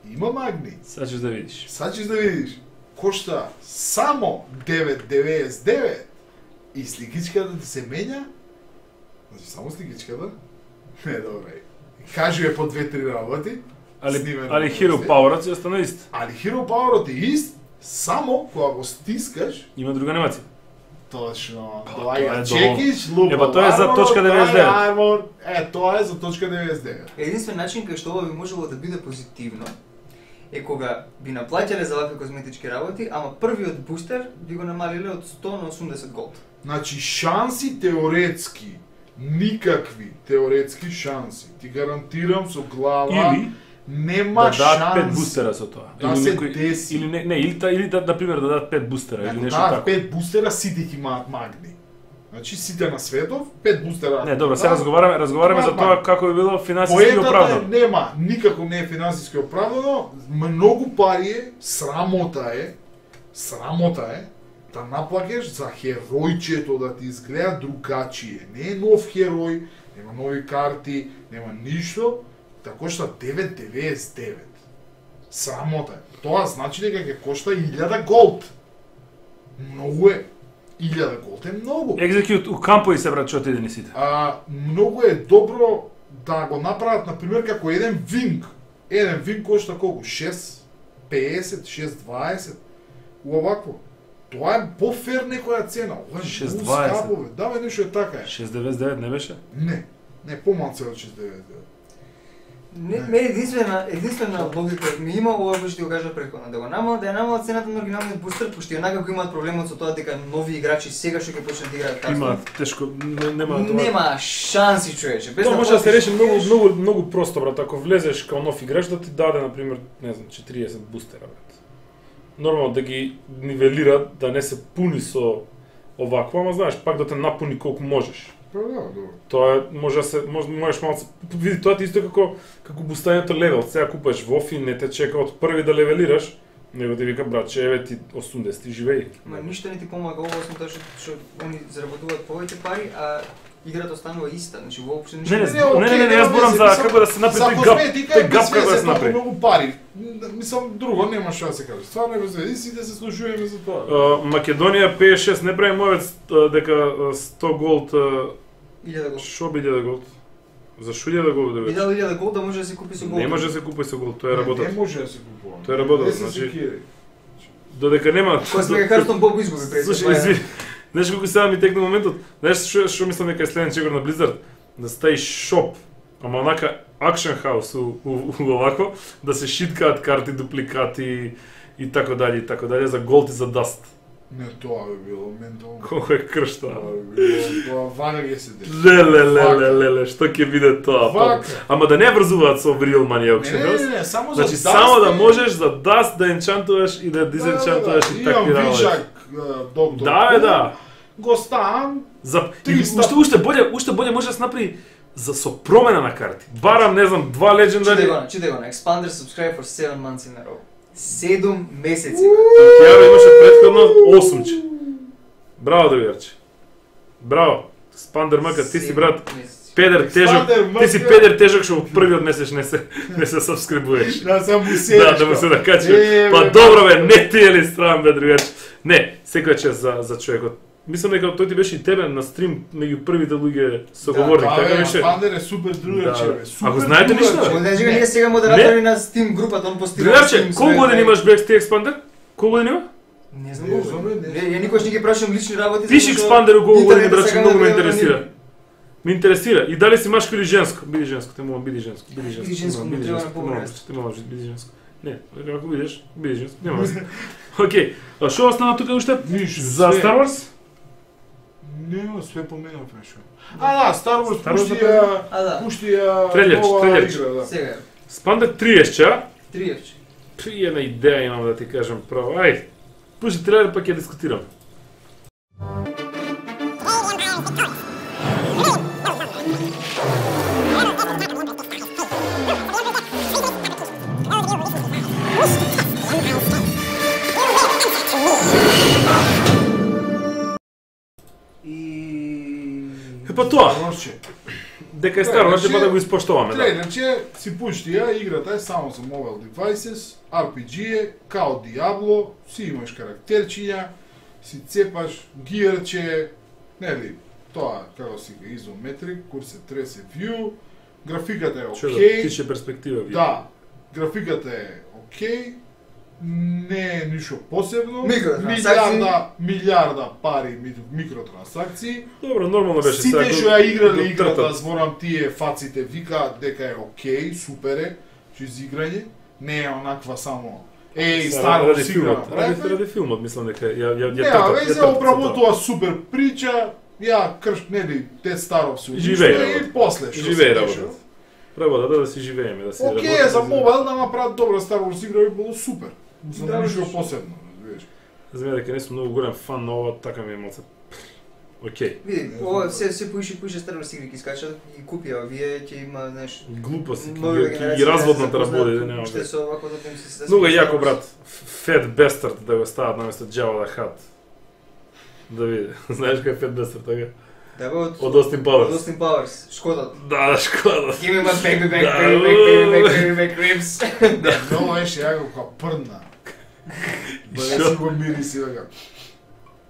B: има Магни.
A: Сега ќе да видиш.
B: Сад ќе да видиш. Кошта само девет деветдесет и девет. И сликичката ти се менја. Значи само сликичката. Не, добре. Кажи е по две-три работи.
A: Али,
B: Снимено
A: али
B: во
A: Hero
B: се.
A: Power си остана ист.
B: Али Hero Power-от е ист, само кога го стискаш,
A: Има друга анимација.
B: точно,
A: Па,
B: тоа
A: тоа е
B: ја
A: долу.
B: чекиш, лупа.
A: Е, па тоа е за
B: армор,
A: точка деветдесет и девет.
B: Тоа е армор, е, тоа е за точка деветдесет и девет.
C: Единствен начин кај што ова би можело да биде позитивно е кога би наплаќале за вакви козметички работи, ама првиот бустер би го намалиле од сто на осумдесет голд.
B: Значи, шанси теоретски, никакви теоретски шанси. Ти гарантирам со глава,
A: Или
B: нема
A: да дадат
B: шанси.
A: пет бустера со тоа.
B: Да
A: Или
B: се
A: некој-
B: деси.
A: Или не, не, или та, или да на пример да дадат пет бустера или
B: Ако
A: нешто
B: дадат
A: така.
B: пет бустера, сите ќе имаат магни. Значи, сите на светов, пет бустера.
A: Не, добро,
B: Да,
A: сега разговараме, разговараме за
B: имаат
A: тоа
B: магни.
A: како би било финансиски
B: Поетата
A: оправдано.
B: нема, никако не е финансиски оправдано, многу пари е, срамота е, срамота е, да наплакеш за херојчето да ти изгледа другачие. Не е нов херој, нема нови карти, нема ништо, да кошта девет деветдесет и девет. Срамота е. Тоа значи дека ќе кошта илјада голд. Многу е. илјада голд е многу.
A: Execute у кампови се брат, што ти идени сите.
B: А, многу е добро да го направат, например, како еден винг. Еден винг кошта колку? шест песет, шест дваесет. Овакво. Тоа е по-фер некоја цена. Ова е
A: шест
B: многу
A: дваесет.
B: скапо, бе. Да, бе, нешто е така е.
A: шест деветдесет и девет не беше?
B: Не, не, помалце од шест деветдесет и девет.
C: Не, ме единствена, единствена логика ми има ова кој што ти го кажа претходно, да го намал, да ја намал цената на оригиналниот бустер, пошто и онака го имаат проблемот со тоа дека нови играчи сега што ќе почнат да играат Hearthstone.
A: Има тешко, не- нема тоа.
C: Нема шанси, човече. Без
A: Тоа може да се
C: платиш
A: реши многу
C: кеш.
A: многу многу просто брат, ако влезеш као нов играч да ти даде на пример, не знам, четириесет бустера брат. Нормално да ги нивелира, да не се пуни со овакво, ама знаеш, пак да те напуни колку можеш.
B: Па да, добро.
A: Тоа е, може да се може можеш малку види тоа ти исто како како бустањето левел. Сега купуваш вофи, не те чека од први да левелираш Него ти вика братче, еве ти осумдесети живеј.
C: Ма ништо не ти помага ова освен тоа што што они заработуваат повеќе пари, а играта останува иста. Значи воопшто ништо.
A: Не, не, не, не, не, не, јас зборам за како да се направи тој гап, тој гап како да се направи.
B: Многу пари. Мислам друго нема што да се каже. Стварно без вези сите се слушуваме за тоа.
A: Македонија петдесет и шест не прави мојот дека сто голд
C: илјада голд.
A: Шо би илјада голд? За шо илјада голд да
C: Би
A: вече?
C: дал илјада голд да може да се купи со голд.
A: Не може да се купи со голд, тоа е работа.
B: Не може да се купува.
A: Тоа е работа, значи. Додека нема.
C: Кој сме Хартон Боб изгуби пред.
A: Слушај, изви. Знаеш колку сега ми текна моментот? Знаеш што што мислам дека е следен чегор на Blizzard? Да стаи шоп, ама онака акшн хаус у, у, у овако, да се шиткаат карти, дупликати и така дали и така дали за голд и за даст.
B: Не, тоа би било ментално.
A: Колку е крш тоа.
B: Тоа би било, тоа ванаги се дешава.
A: Леле, леле, леле, што ќе биде тоа?
B: Вака.
A: Ама да не врзуваат со real money
B: Не,
A: auction
B: не,
A: house.
B: не, не, само за
A: Значи
B: даст
A: само да
B: е-
A: можеш за даст да енчантуваш и да дизенчантуваш и такви
B: Имам
A: работи.
B: вишак, доктор.
A: Да, бе, да.
B: Го ставам.
A: За и
B: триста.
A: уште уште боле, уште боле може да се направи за со промена на карти. Барам, не знам, два
C: Читай
A: легендари.
C: го, читай го, Expander subscribe for seven months in a row. седум месеци.
A: Ја имаше претходно осумче. Браво, другарче. Браво. Спандер Мъка, ти си брат педер тежок.
B: Expander
A: Ти си
B: Мъка.
A: педер тежок што од првиот месец не се не се сабскрибуеш.
B: Да сам му седиш.
A: Да, да му се накачи.
B: Е,
A: Па
B: бе,
A: добро бе, не ти е ли стран бе, другарче. Не, секоја чест за за човекот. Мислам дека тој ти беше и тебе на стрим меѓу првите луѓе соговорник,
B: Да,
A: така
B: бе,
A: беше.
B: Пандер е супер другарче,
A: Да.
B: бе. Супер
A: Ако знаете
B: другарче.
A: ништо, бе.
C: Може да ние сега модератори на Steam групата, он постира.
A: Другарче, колку години имаш Black Steel Expander? Колку години има?
C: Не знам
B: Не
C: колку.
B: знам, бе, не
C: Не,
B: знам.
C: ја никош не ги прашам лични работи.
A: Пиши
C: затоа што
A: Expander колку години,
C: интернетот
A: браче,
C: сега
A: многу ме
C: ме
A: интересира. Ме интересира. И дали си машко или женско? Биди женско, те молам, биди женско. Биди женско.
C: Биди женско,
A: биди
C: му треба
A: женско,
C: на
A: те молам,
C: по-време.
A: те молам, биди женско. Не, ако бидеш, биди женско. Нема врска. Океј, а што остана тука уште?
B: Ништо,
A: За
B: све.
A: Star Wars?
B: Не, све поменав нешто. А, да, Star Wars
A: Star Wars
B: пушти
A: да
B: ја,
C: А да,
B: пушти ја
A: Трељерче,
B: нова
A: трељерче.
B: игра, да.
C: сега.
A: Спандер триесет, а?
C: Триевче.
A: При една идеја имам да ти кажам право. Ајде. Пушти трейлер па ќе дискутирам.
C: И
A: Е па тоа,
B: Star Wars-че.
A: дека е Star Wars, па да го испоштуваме, да.
B: Трейлерче си пушти ја, играта е само за mobile devices, ар пи джи е, као Diablo, си имаш карактерчиња, си цепаш гиерче, нели, тоа како си га изометрик, кур се тресе view, графиката е
A: Што да
B: окей.
A: тиче перспектива ви.
B: Да, графиката е окей, не е ништо посебно,
C: Микротрансакции.
B: милиарда, милиарда пари ми- микротрансакции.
A: Добро, нормално беше
B: Сите
A: сега,
B: што
A: го-
B: ја играле
A: го
B: играта,
A: тртат.
B: зборам тие фаците викаат дека е окей, супер е, чиз играње, не е онаква само еј,
A: Сега,
B: старо
A: ради
B: си игра
A: филмот, ради,
B: направи.
A: ради филмот, мислам дека ја ја ја
B: Не,
A: тртат,
B: абе,
A: ја
B: се
A: тртат со
B: обработува супер прича, ја крш, нели, те старо се
A: Живее
B: униште и
A: работа.
B: после
A: тоа.
B: што
A: Живее
B: се
A: работата.
B: дешава.
A: Работата да си живееме, да си
B: Окей,
A: работиме,
B: за
A: да си-
B: мобайл да направат добра Star Wars игра би било супер. За
C: Да,
B: ништо
C: виж.
B: посебно, разбираш.
A: За мене дека не сум многу голем фан на ова, така ми е малце. Океј.
C: види, ова се се поише и поише Star Wars игри ќе скачат и купи, а вие ќе има, знаеш,
A: Глупости,
C: нови
A: ќе ги- ќе ги разводната работи, да нема.
C: Што со овако да им се
A: Многу е јако, брат. Фет Бестард да го стават наместо Джава да хат. Да види. Знаеш кој е Фет Бестард, така?
C: Да бе од
A: Од Остин Пауерс.
C: од Austin Powers, Шкодат.
A: Да, да, шкода.
C: Give me my baby back,
A: Да.
C: baby back, baby back, baby back ribs.
B: Да, много беше јако кога прдна.
A: И
B: Бъде
A: шо?
B: си го мириси века.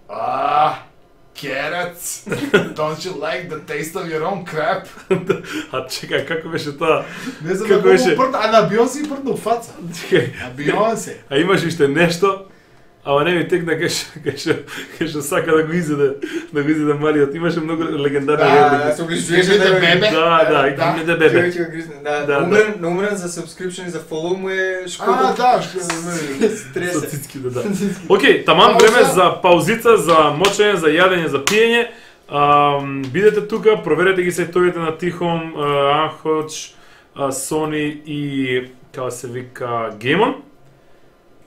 B: А, carrots. Don't you like the taste of your own crap?
A: А чекај, како беше тоа?
B: Не знам
A: Како
B: како
A: беше?
B: беше прдна, а на Бионсе и прдна у фаца.
A: Чекај.
B: На Бионсе.
A: А имаш уште нешто, ама не ми текна кај што кај што кај што сака да го изеде, да го изеде малиот. Имаше многу легендарни
B: Да,
A: реплики.
C: се
B: Give me the bebe.
A: Да, да,
B: Да.
A: give me the bebe.
C: Човек ќе го гризне. Да,
A: Да,
C: умрен, на умрен за subscription и за follow му е
B: А,
C: Шкодат.
B: да, што не.
A: Со
C: Стресе.
A: цицки, да, да. Океј, таман
B: Пауза.
A: време за паузица, за мочење, за јадење, за пиење. Ам, бидете тука, проверете ги сајтовите на Тихом, Анхоч, Sony и како се вика Геймон.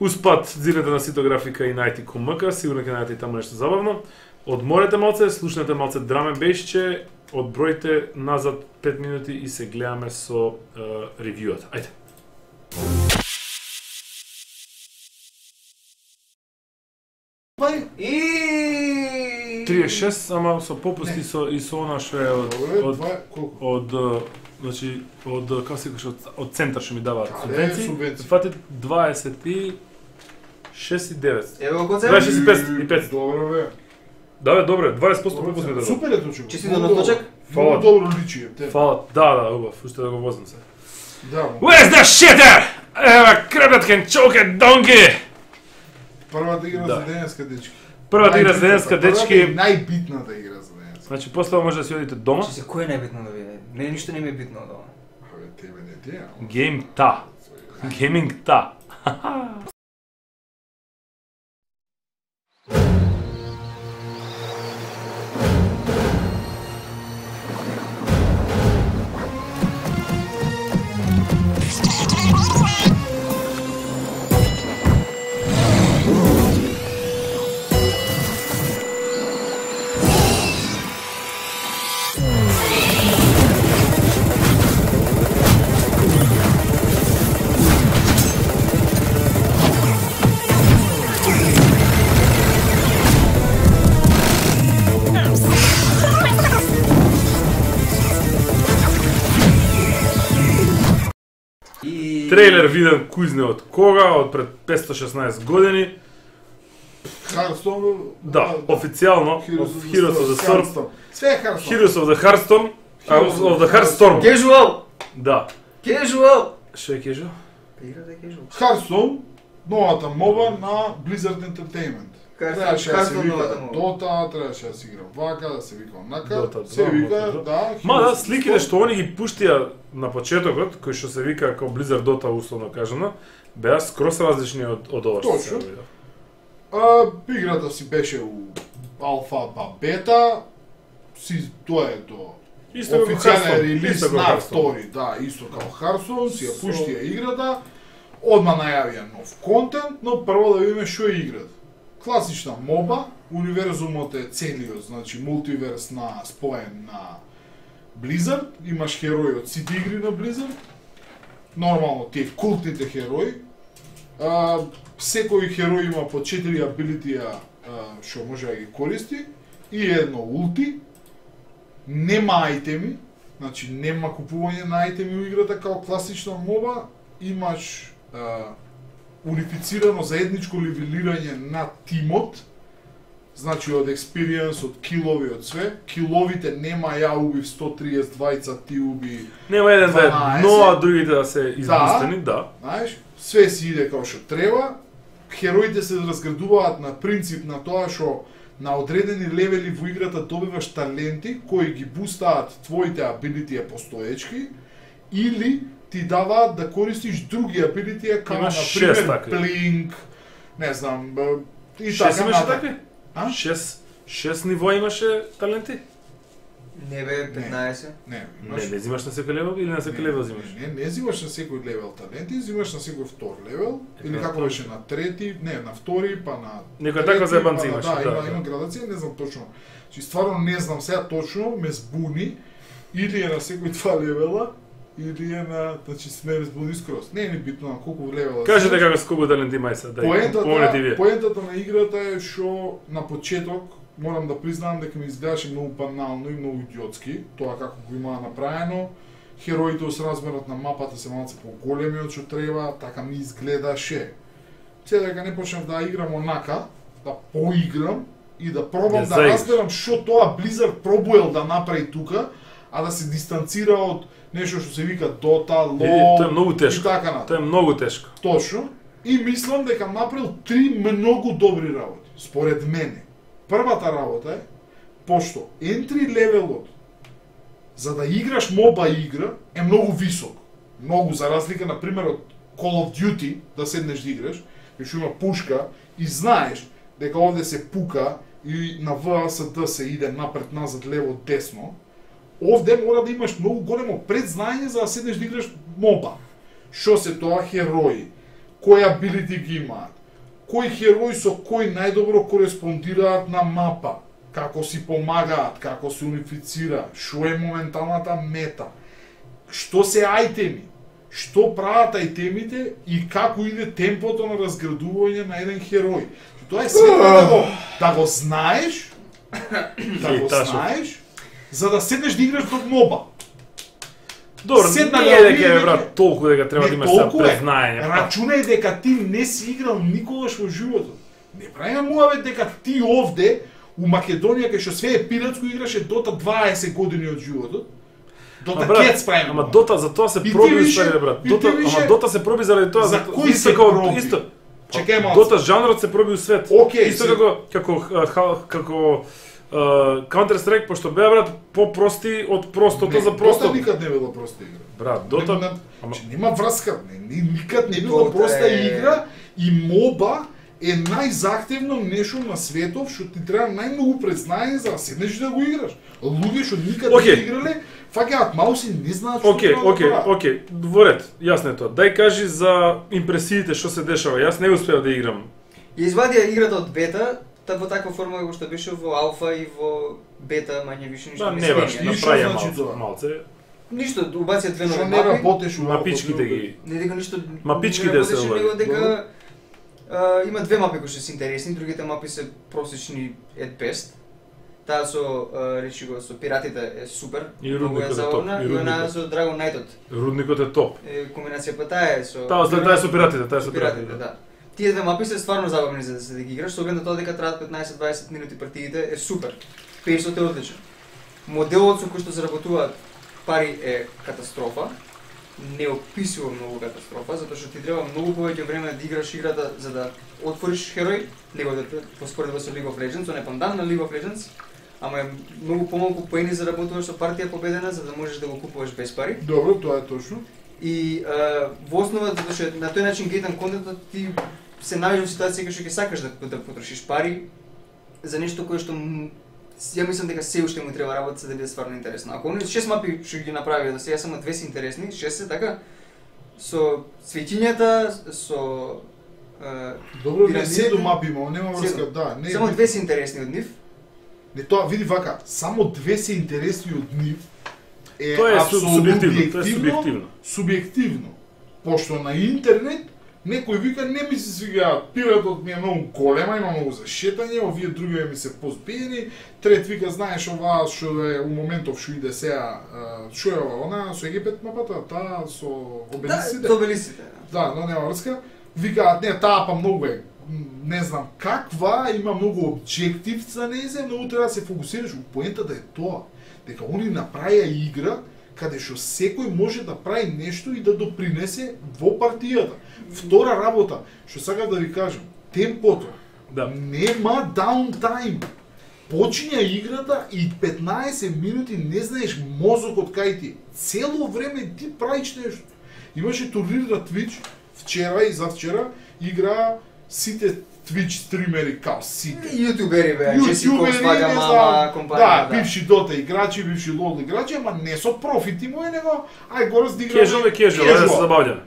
A: Успат зирнете на сито графика и најти ком МК, сигурно ќе најдете и таму нешто забавно. Одморете малце, слушнете малце драме бешче, одбројте назад пет минути и се гледаме со uh, ревјуата. Ајде.
B: Пај
C: И
A: триесет и шест, ама со попусти со и со она што е од од
B: колку?
A: од е, значи од како се кажа од, од центар што ми даваат
B: Каде
A: субвенции.
B: субвенции?
A: Фати дваесет и шест и девет.
C: Еве го коцем.
A: дваесет и пет и пет.
B: Добро бе.
A: Да, бе, добре, дваесет проценти попуст ми дадат.
B: Супер е точно.
C: Честито на точек.
A: Фала.
B: Много добро личи е те.
A: Фала, да, да, убав, уште да го возам се.
B: Да, мо.
A: Where's the shitter? Ева, кребет can choke a donkey!
B: Првата игра
A: Да.
B: за денеска дечки.
A: Првата игра за денеска
B: Првата
A: дечки,
B: и најбитната игра за денеска.
A: значи после ова може да си одите дома.
C: Че се кој е најбитно да биде? Не, ништо не ми е битно од ова.
B: Абе, тебе не ти е.
A: Game та. Gaming та.
C: И
A: Трейлер виден кузне од кога? Од пред петстотини и шеснаесет години.
B: Харстон.
A: Да, официјално Heroes of the Storm.
B: Све е Харстон.
A: Heroes of the Hearthstone. а, of the Hearthstorm.
C: Casual.
A: Да.
C: Casual.
A: Што е кежо?
C: Играта е casual.
B: Харстон, новата моба на Blizzard Entertainment. Требаше да се
C: Hearthstone
B: вика
C: новата моба.
B: Дота, требаше да се игра вака, да се вика онака.
A: Dota
B: Се
A: два,
B: вика,
A: Dota два.
B: да.
A: Ма да,
B: Heroes of
A: сликите
B: the
A: што они ги пуштија на почетокот, кои што се вика како Blizzard Dota условно кажано, беа скрос различни од од ова што се
B: Точно.
A: види.
B: А, играта си беше у алфа па бета, си тоа е до
A: Исто како
B: официјален
A: Hearthstone,
B: релиз
A: исто како
B: на
A: Hearthstone.
B: втори, да, исто како Харстон, си ја пуштија играта, одма најавија нов контент, но прво да видиме што е играта. Класична моба, универзумот е целиот, значи мултиверс на споен на Blizzard, имаш херои од сите игри на Blizzard, нормално тие култните херои, а, секој херој има по четири абилитија што може да ги користи и едно улти, нема ајтеми, значи нема купување на ајтеми у играта као класична моба, имаш а, унифицирано заедничко левелирање на тимот, значи од експириенс, од килови, од све. Киловите нема ја убив сто триесет двајца, ти уби,
A: Нема еден да е
B: дванаесет.
A: дно, а другите да се избустени, да.
B: знаеш, све си иде како што треба. Хероите се разградуваат на принцип на тоа што на одредени левели во играта добиваш таленти кои ги бустаат твоите абилитија постоечки или ти даваат да користиш други абилитија како
A: Имаш
B: на
A: шест
B: пример
A: такви.
B: Blink, не знам, б, и
A: Шест
B: така
A: имаше
B: натаму.
A: такви?
B: А?
A: Шест, шест ниво имаше таленти?
C: Не бе, петнаесет.
B: Не,
A: Не, не взимаш на секој левел или на секој левел взимаш?
B: Не, не, не взимаш на секој левел таленти, взимаш на секој втор левел, или
A: Така,
B: како
A: тоа.
B: беше на трети, не, на втори, па на
A: Некоја
B: трети,
A: таква заебанци
B: па на-
A: имаше,
B: Да,
A: да,
B: има,
A: да.
B: има градација, не знам точно. Чи стварно не знам сега точно, ме збуни, или е на секој два левела, или е на, значи сме ме збуни скроз. Не е ни битно на колку левела.
A: Кажете
B: си.
A: како с колку таленти има се, да помолете
B: Поентата,
A: вие.
B: поентата на играта е што на почеток морам да признам дека ми изгледаше многу банално и многу идиотски, тоа како го имаа направено. Хероите со размерот на мапата се малце поголеми од што треба, така ми изгледаше. Се дека не почнав да играм онака, да поиграм и да пробам
A: Не
B: да
A: заиграш.
B: разберам што тоа Blizzard пробуел да направи тука, а да се дистанцира од нешто што се вика Dota,
A: Види,
B: LoL
A: тоа е многу
B: и
A: тешко.
B: така натаму.
A: Тоа е многу тешко.
B: Точно. И мислам дека направил три многу добри работи, според мене. Првата работа е, пошто entry левелот за да играш моба игра е многу висок. Многу, за разлика, например, од Call of Duty, да седнеш да играш, и што има пушка, и знаеш дека овде се пука и на В А С Д се иде напред, назад, лево, десно, овде мора да имаш многу големо предзнаење за да седнеш да играш моба. Што се тоа херои, кои абилити ги имаат, кои херои со кои најдобро кореспондираат на мапа, како си помагаат, како се унифицира, што е моменталната мета, што се ајтеми, што прават ајтемите и како иде темпото на разградување на еден херој. Тоа е светот да го, да го знаеш, да го
A: Ташо.
B: знаеш, за да седнеш да играш до моба.
A: Добро,
B: Седнале
A: не е дека
B: овие
A: е брат толку дека треба да
B: Не,
A: имаш сега
B: толку е.
A: признање.
B: Рачунај дека ти не си играл никогаш во животот. Не правиме муавет дека ти овде у Македонија кај што све е пиратско играше Дота дваесет години од животот. Дота
A: Ама, брат,
B: Cats правиме.
A: Ама
B: муавет.
A: Дота за тоа се
B: И ти
A: проби
B: више-
A: ствари брат.
B: и ти
A: Дота,
B: више-
A: ама Дота се проби заради тоа
B: За
A: зато-
B: кој
A: исто
B: се
A: како
B: проби?
A: исто.
B: Чекај малку.
A: Дота жанрот се проби у свет.
B: Океј,
A: исто
B: се-
A: како како а, ха- како uh, Counter Strike пошто беа брат попрости од простото
B: Не,
A: за просто.
B: Дота никад не била проста игра.
A: Брат,
B: Не,
A: Дота
B: не,
A: ама
B: че нема врска, не, не, никад не била
C: Дота
B: проста
C: е-
B: игра и моба е најзахтевно нешто на светов што ти треба најмногу признање за да седнеш и да го играш. Луѓе што никад
A: Океј.
B: не играле, фаќаат мауси, не знаат што
A: Океј,
B: треба да
A: океј,
B: прават.
A: океј, во ред, јасно е тоа. Дај кажи за импресиите што се дешава. Јас не успеав да играм.
C: Ја извадија играта од бета, та во таква форма како што беше во алфа и во бета, мање више ништо
A: Да,
C: не
A: не баш,
C: сменија.
B: И што
A: направија
B: значи
A: малце,
B: тоа?
A: малце.
C: Ништо, убација две
B: Што
C: нови
B: не
C: мапи.
B: работеш у
A: Мапичките ги.
C: Не дека ништо
A: Мапичките
C: не
A: се
C: работеше,
A: овај.
C: него дека а, има две мапи кои што се интересни, другите мапи се просечни at best. Таа со а, речи го со пиратите е супер,
A: И
C: многу
A: рудникот
C: е
A: е топ,
C: забавна,
A: и
C: и она
A: рудникот.
C: со Dragon Knight-от.
A: Рудникот е топ.
C: Е, комбинација таа е со
A: Таа таа е со пиратите, таа е со
C: пиратите,
A: пиратите.
C: да. Тие две мапи се стварно забавни за да се да ги играш, со оглед на тоа дека траат петнаесет-дваесет минути партиите е супер. Пейсот е одличен. Моделот со кој што се работуваат пари е катастрофа. Неописуемо многу катастрофа, затоа што ти треба многу повеќе време да играш играта за да отвориш херој, него да те поспоредува со League of Legends, он е пандан на League of Legends, ама е многу помалку поени за работуваш со партија победена за да можеш да го купуваш без пари.
B: Добро, тоа е точно.
C: И а, во основа, затоа што на тој начин гейтан контентот ти се наоѓаш во ситуација кај што ќе сакаш да, да потрошиш пари за нешто кое што м, ја мислам дека се уште му треба работа за да биде стварно интересно. Ако оние шест мапи што ги направи да сега само две се интересни, шест се така со цветињата, со а,
B: Добро, не
C: пирамидите.
B: седум мапи има, нема врска,
C: Седум.
B: да, не.
C: само
B: не-
C: две се интересни од нив.
B: Не, тоа види вака, само две се интересни од нив. Е
A: Тоа е су-
B: апсолутно
A: субјективно, тоа е
B: објективно,
A: субјективно.
B: Субјективно. Пошто на интернет некој вика не ми се свига, пиратот ми е многу голема, има многу за шетање, овие други ми се позбиени, трет вика знаеш ова што е у моментов што иде сега, а, што е ова, она со Египет мапата, таа со
C: Да,
B: обелисите.
C: добелисите.
B: Да, но нема врска. Викаат, не, таа па многу е, м, не знам каква, има многу објектив за незе, многу треба да се фокусираш. Поентата е тоа, дека они направија игра каде што секој може да прави нешто и да допринесе во партијата. Втора работа, што сакам да ви кажам, темпото.
A: Да.
B: Нема даунтайм. Почиња играта и петнаесет минути не знаеш мозокот кај ти. Цело време ти правиш нешто. Имаше турнир на Twitch вчера и завчера, игра сите Twitch стримери као сите.
C: Јутубери беа, Джеси
B: Ютубери,
C: Кокс, Вага
B: не
C: Мама,
B: знам,
C: компанија.
B: да, бивши Дота играчи, бивши лол играчи, ама не со профити мој, него ај горос да играме.
A: Кежуал е кежуал, ајде да се забавljаме.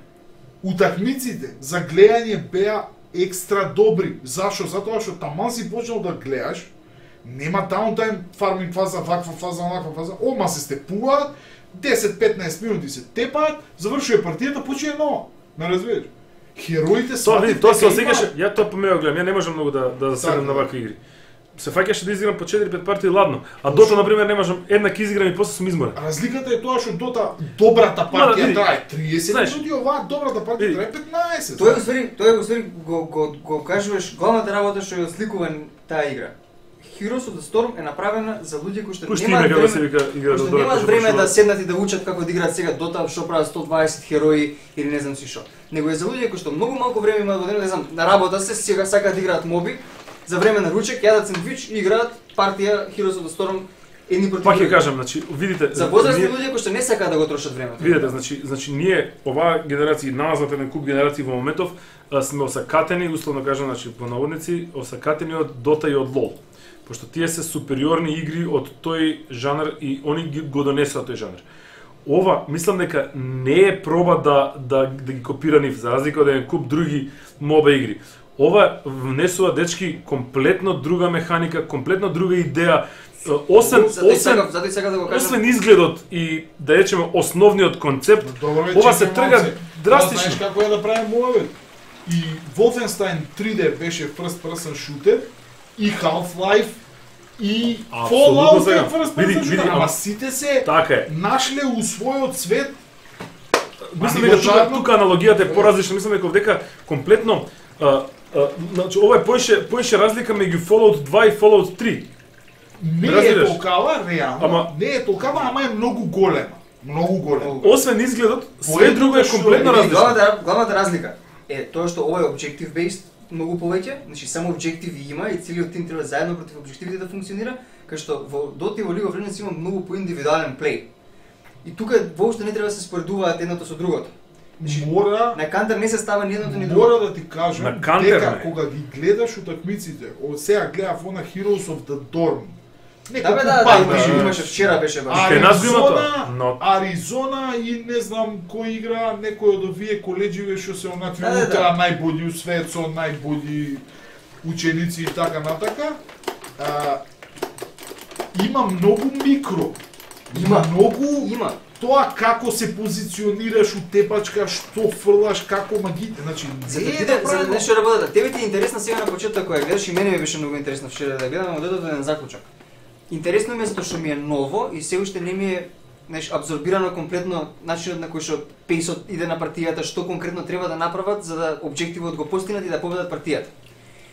B: Утакмиците за гледање беа екстра добри. Зашо? Затоа што таман си почнал да гледаш, нема даунтайм, фарминг фаза, ваква фаза, онаква фаза, ома се степуваат, десет-петнаесет минути се тепаат, завршува партијата, почине ново. Не разбираш? Хероите
A: Тоа види,
B: сватив
A: тоа се
B: дека има-
A: осеќаше, ја тоа помеа гледам, ја не можам многу да да седам на
B: Така.
A: вакви игри. Се фаќаше да изиграм по четири-пет партии ладно, а Дота на пример не можам еднак изиграм и после сум изморен.
B: Разликата е тоа што Дота добрата
A: Ма, да,
B: партија
A: види.
B: трае триесет
A: Знаеш,
B: минути, оваа добрата партија
A: види.
B: трае петнаесет.
C: Тоа е уствари, тоа е уствари го го го кажуваш главната работа што ја осликува таа игра. Heroes of the Storm е направена за луѓе кои што
A: Пушти
C: немаат
A: име како се
C: време,
A: вика игра
C: кои што
A: да
C: немаат време да седнат и да учат како да играат сега Dota, што прават сто дваесет херои или не знам си што. Него е за луѓе кои што многу малку време имаат во ден, не знам, на работа се сега сакаат да играат моби, за време на ручек јадат сендвич и играат партија Heroes of the Storm едни против
A: Пак ќе
C: други.
A: кажам, значи, видите,
C: За возрастни
A: ние-
C: луѓе кои што не сакаат да го трошат времето.
A: Видете, значи, значи ние оваа генерација, назад еден куп генерации во моментов а, сме осакатени, условно кажам, значи по наводници, осакатени од Дота и од LoL. Пошто тие се супериорни игри од тој жанр и они ги го донесоа тој жанр. Ова, мислам дека не е проба да да да ги копира нив, за разлика од еден куп други моба игри. Ова внесува дечки комплетно друга механика, комплетно друга идеја, освен
C: Затоа и
A: освен
C: сакав, затоа и сакав да го кажам.
A: освен изгледот и да речеме основниот концепт,
B: Добро, бе,
A: ова се
B: чекај
A: трга
B: малце.
A: драстично.
B: Тоа знаеш како е да правим муавет. и Wolfenstein три Д беше first person shooter, и Half-Life, и Fallout е first person shooter, ама сите се
A: така е.
B: нашле у својот свет.
A: Мислам дека тука, тука аналогијата е поразлична, мислам дека дека комплетно а, а, значи ова е поише поише разлика меѓу Fallout два и Fallout три.
B: Не е толкава реално, ама не е толкава, ама е многу голема. Многу голема.
A: Освен изгледот, све друго е комплетно различно.
C: Главната, главната разлика е тоа што ова е objective based многу повеќе, значи само објективи има и целиот тим треба заедно против објективите да функционира, кај што во Dota и во League of Legends има многу поиндивидуален плей. И тука воопшто не треба да се споредуваат едното со другото. Значи,
B: мора
C: на Counter не се става ни едното ни другото.
B: Мора да ти кажам дека кога ги гледаш утакмиците, од сега гледав она Heroes of the Dorm.
C: Да бе, да, да, имаше, имаше вчера беше баш.
B: Аризона, no. Аризона и не знам кој игра, некој од овие коледживе што се онакви
C: да,
B: утра
C: да.
B: најбољи у свет со најбољи ученици и така натака. А, има многу микро. Има, има многу
C: има.
B: Тоа како се позиционираш у тепачка, што фрлаш, како магите, значи
C: за да биде за да нешто работата. Тебе ти е интересна сега на почеток кога гледаш и мене ми беше многу интересно вчера да гледам, но додека еден заклучок. Интересно ми е затоа што ми е ново и се уште не ми е неш абсорбирано комплетно начинот на кој што пейсот иде на партијата, што конкретно треба да направат за да објективот го постигнат и да победат партијата.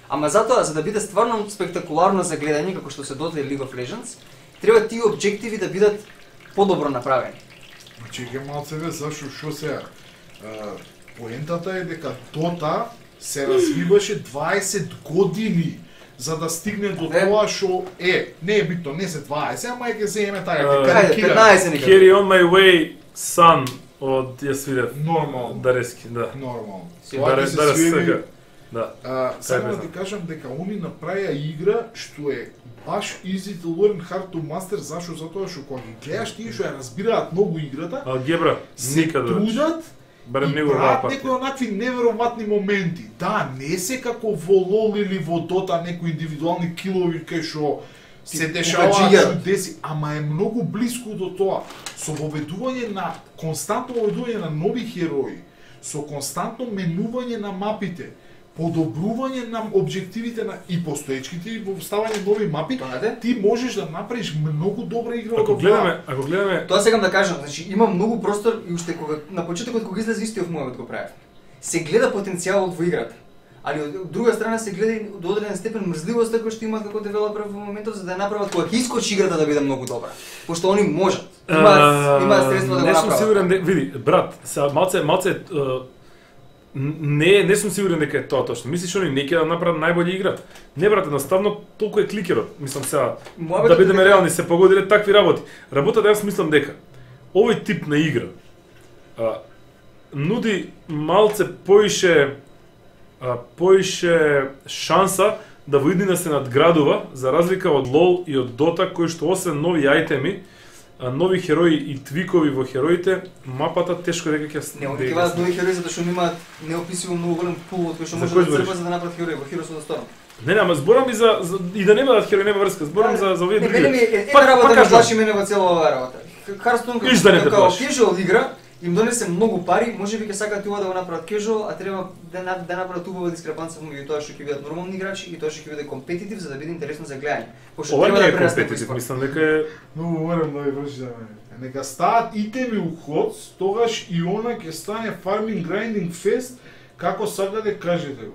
C: Ама затоа за да биде стварно спектакуларно за гледање како што се Dota и League of Legends, треба тие објективи да бидат подобро направени.
B: Чекај малце бе, зашо шо се поентата е дека Dota се развиваше дваесет години за да стигне до
C: е.
B: Тоа што е, не е битно, не се дваесет, ама ќе земеме таа
A: Uh,
B: карикира.
C: петнаесет некаде.
A: Carry on my way, son, од ја свирев.
B: Нормално.
A: Дарески, да.
B: Нормално.
A: Тоа
B: Тоа
A: е
B: ќе се
A: Дарес
B: свири.
A: сега. Да.
B: А, сега
A: Кај
B: да ти кажам дека они направија игра што е баш easy to learn, hard to master, зашо? Затоа што кога ги гледаш тие што ја разбираат многу играта,
A: Алгебра,
B: се
A: никаде.
B: трудат
A: Барем
B: и
A: него
B: прават
A: вапа.
B: некои онакви неверојатни моменти. Да, не се како во лол или во Дота некои индивидуални килови кај што се дешаваат
C: покаджија.
B: чудеси, ама е многу блиску до тоа. Со воведување на константно воведување на нови херои, со константно менување на мапите, подобрување на објективите на и постоечките и вставање нови мапи,
C: Тоа
B: ти можеш да направиш многу добра игра од
A: Ако
B: оваа.
A: гледаме, ако гледаме
C: Тоа сакам да кажам, значи има многу простор и уште кога на почетокот кога излезе истиот мојот го правев. Се гледа потенцијалот во играта. Али од друга страна се гледа и до одреден степен мрзливоста која што имаат како девелопер во моментов за да ја направат кога ќе искочи играта да биде многу добра. Пошто они можат. Имаат имаат средства да го
A: не
C: направат.
A: сум сигурен, де, види, брат, сега малце малце uh, не не сум сигурен дека е тоа точно. Мислиш они не ќе да направат најбоља игра? Не брат, едноставно толку е кликерот. Мислам сега
C: Мојабетот
A: да бидеме
C: дека-
A: реални, се погодиле такви работи. Работата јас мислам дека овој тип на игра а, нуди малце поише а, поише шанса да во иднина се надградува за разлика од лол и од Dota кои што освен нови ајтеми, а, нови херои и твикови во хероите, мапата тешко дека ќе
C: Не,
A: да
C: они
A: ја
C: киваат нови херои затоа што имаат неописиво многу голем пул од кој што
A: За
C: може
A: кој
C: да
A: збориш?
C: црпат за да направат херои во Heroes of the Storm.
A: Не, не, ама зборам и за, за и да не бидат херои, нема врска, зборам за за овие
C: Не,
A: други.
C: мене ми е
A: Пак-
C: една работа
A: пак
C: ме
A: кажувам.
C: плаши мене во цела оваа работа. Харстон
A: Виж да не те
C: како
A: плаши.
C: casual игра им донесе многу пари, можеби ќе сакаат ова да го направат casual, а треба да на- да направат убава дискрепанца меѓу тоа што ќе бидат нормални играчи и тоа што ќе биде компетитив за да биде интересно за гледање. Пошто
A: Ова
C: треба
A: не
C: да
A: е
C: прерасне во
A: компетитив,
C: спорт.
A: мислам дека е
B: Многу морам да ви врши за мене. Нека стаат итеми у ход, тогаш и она ќе стане farming grinding fest како сакате кажете го.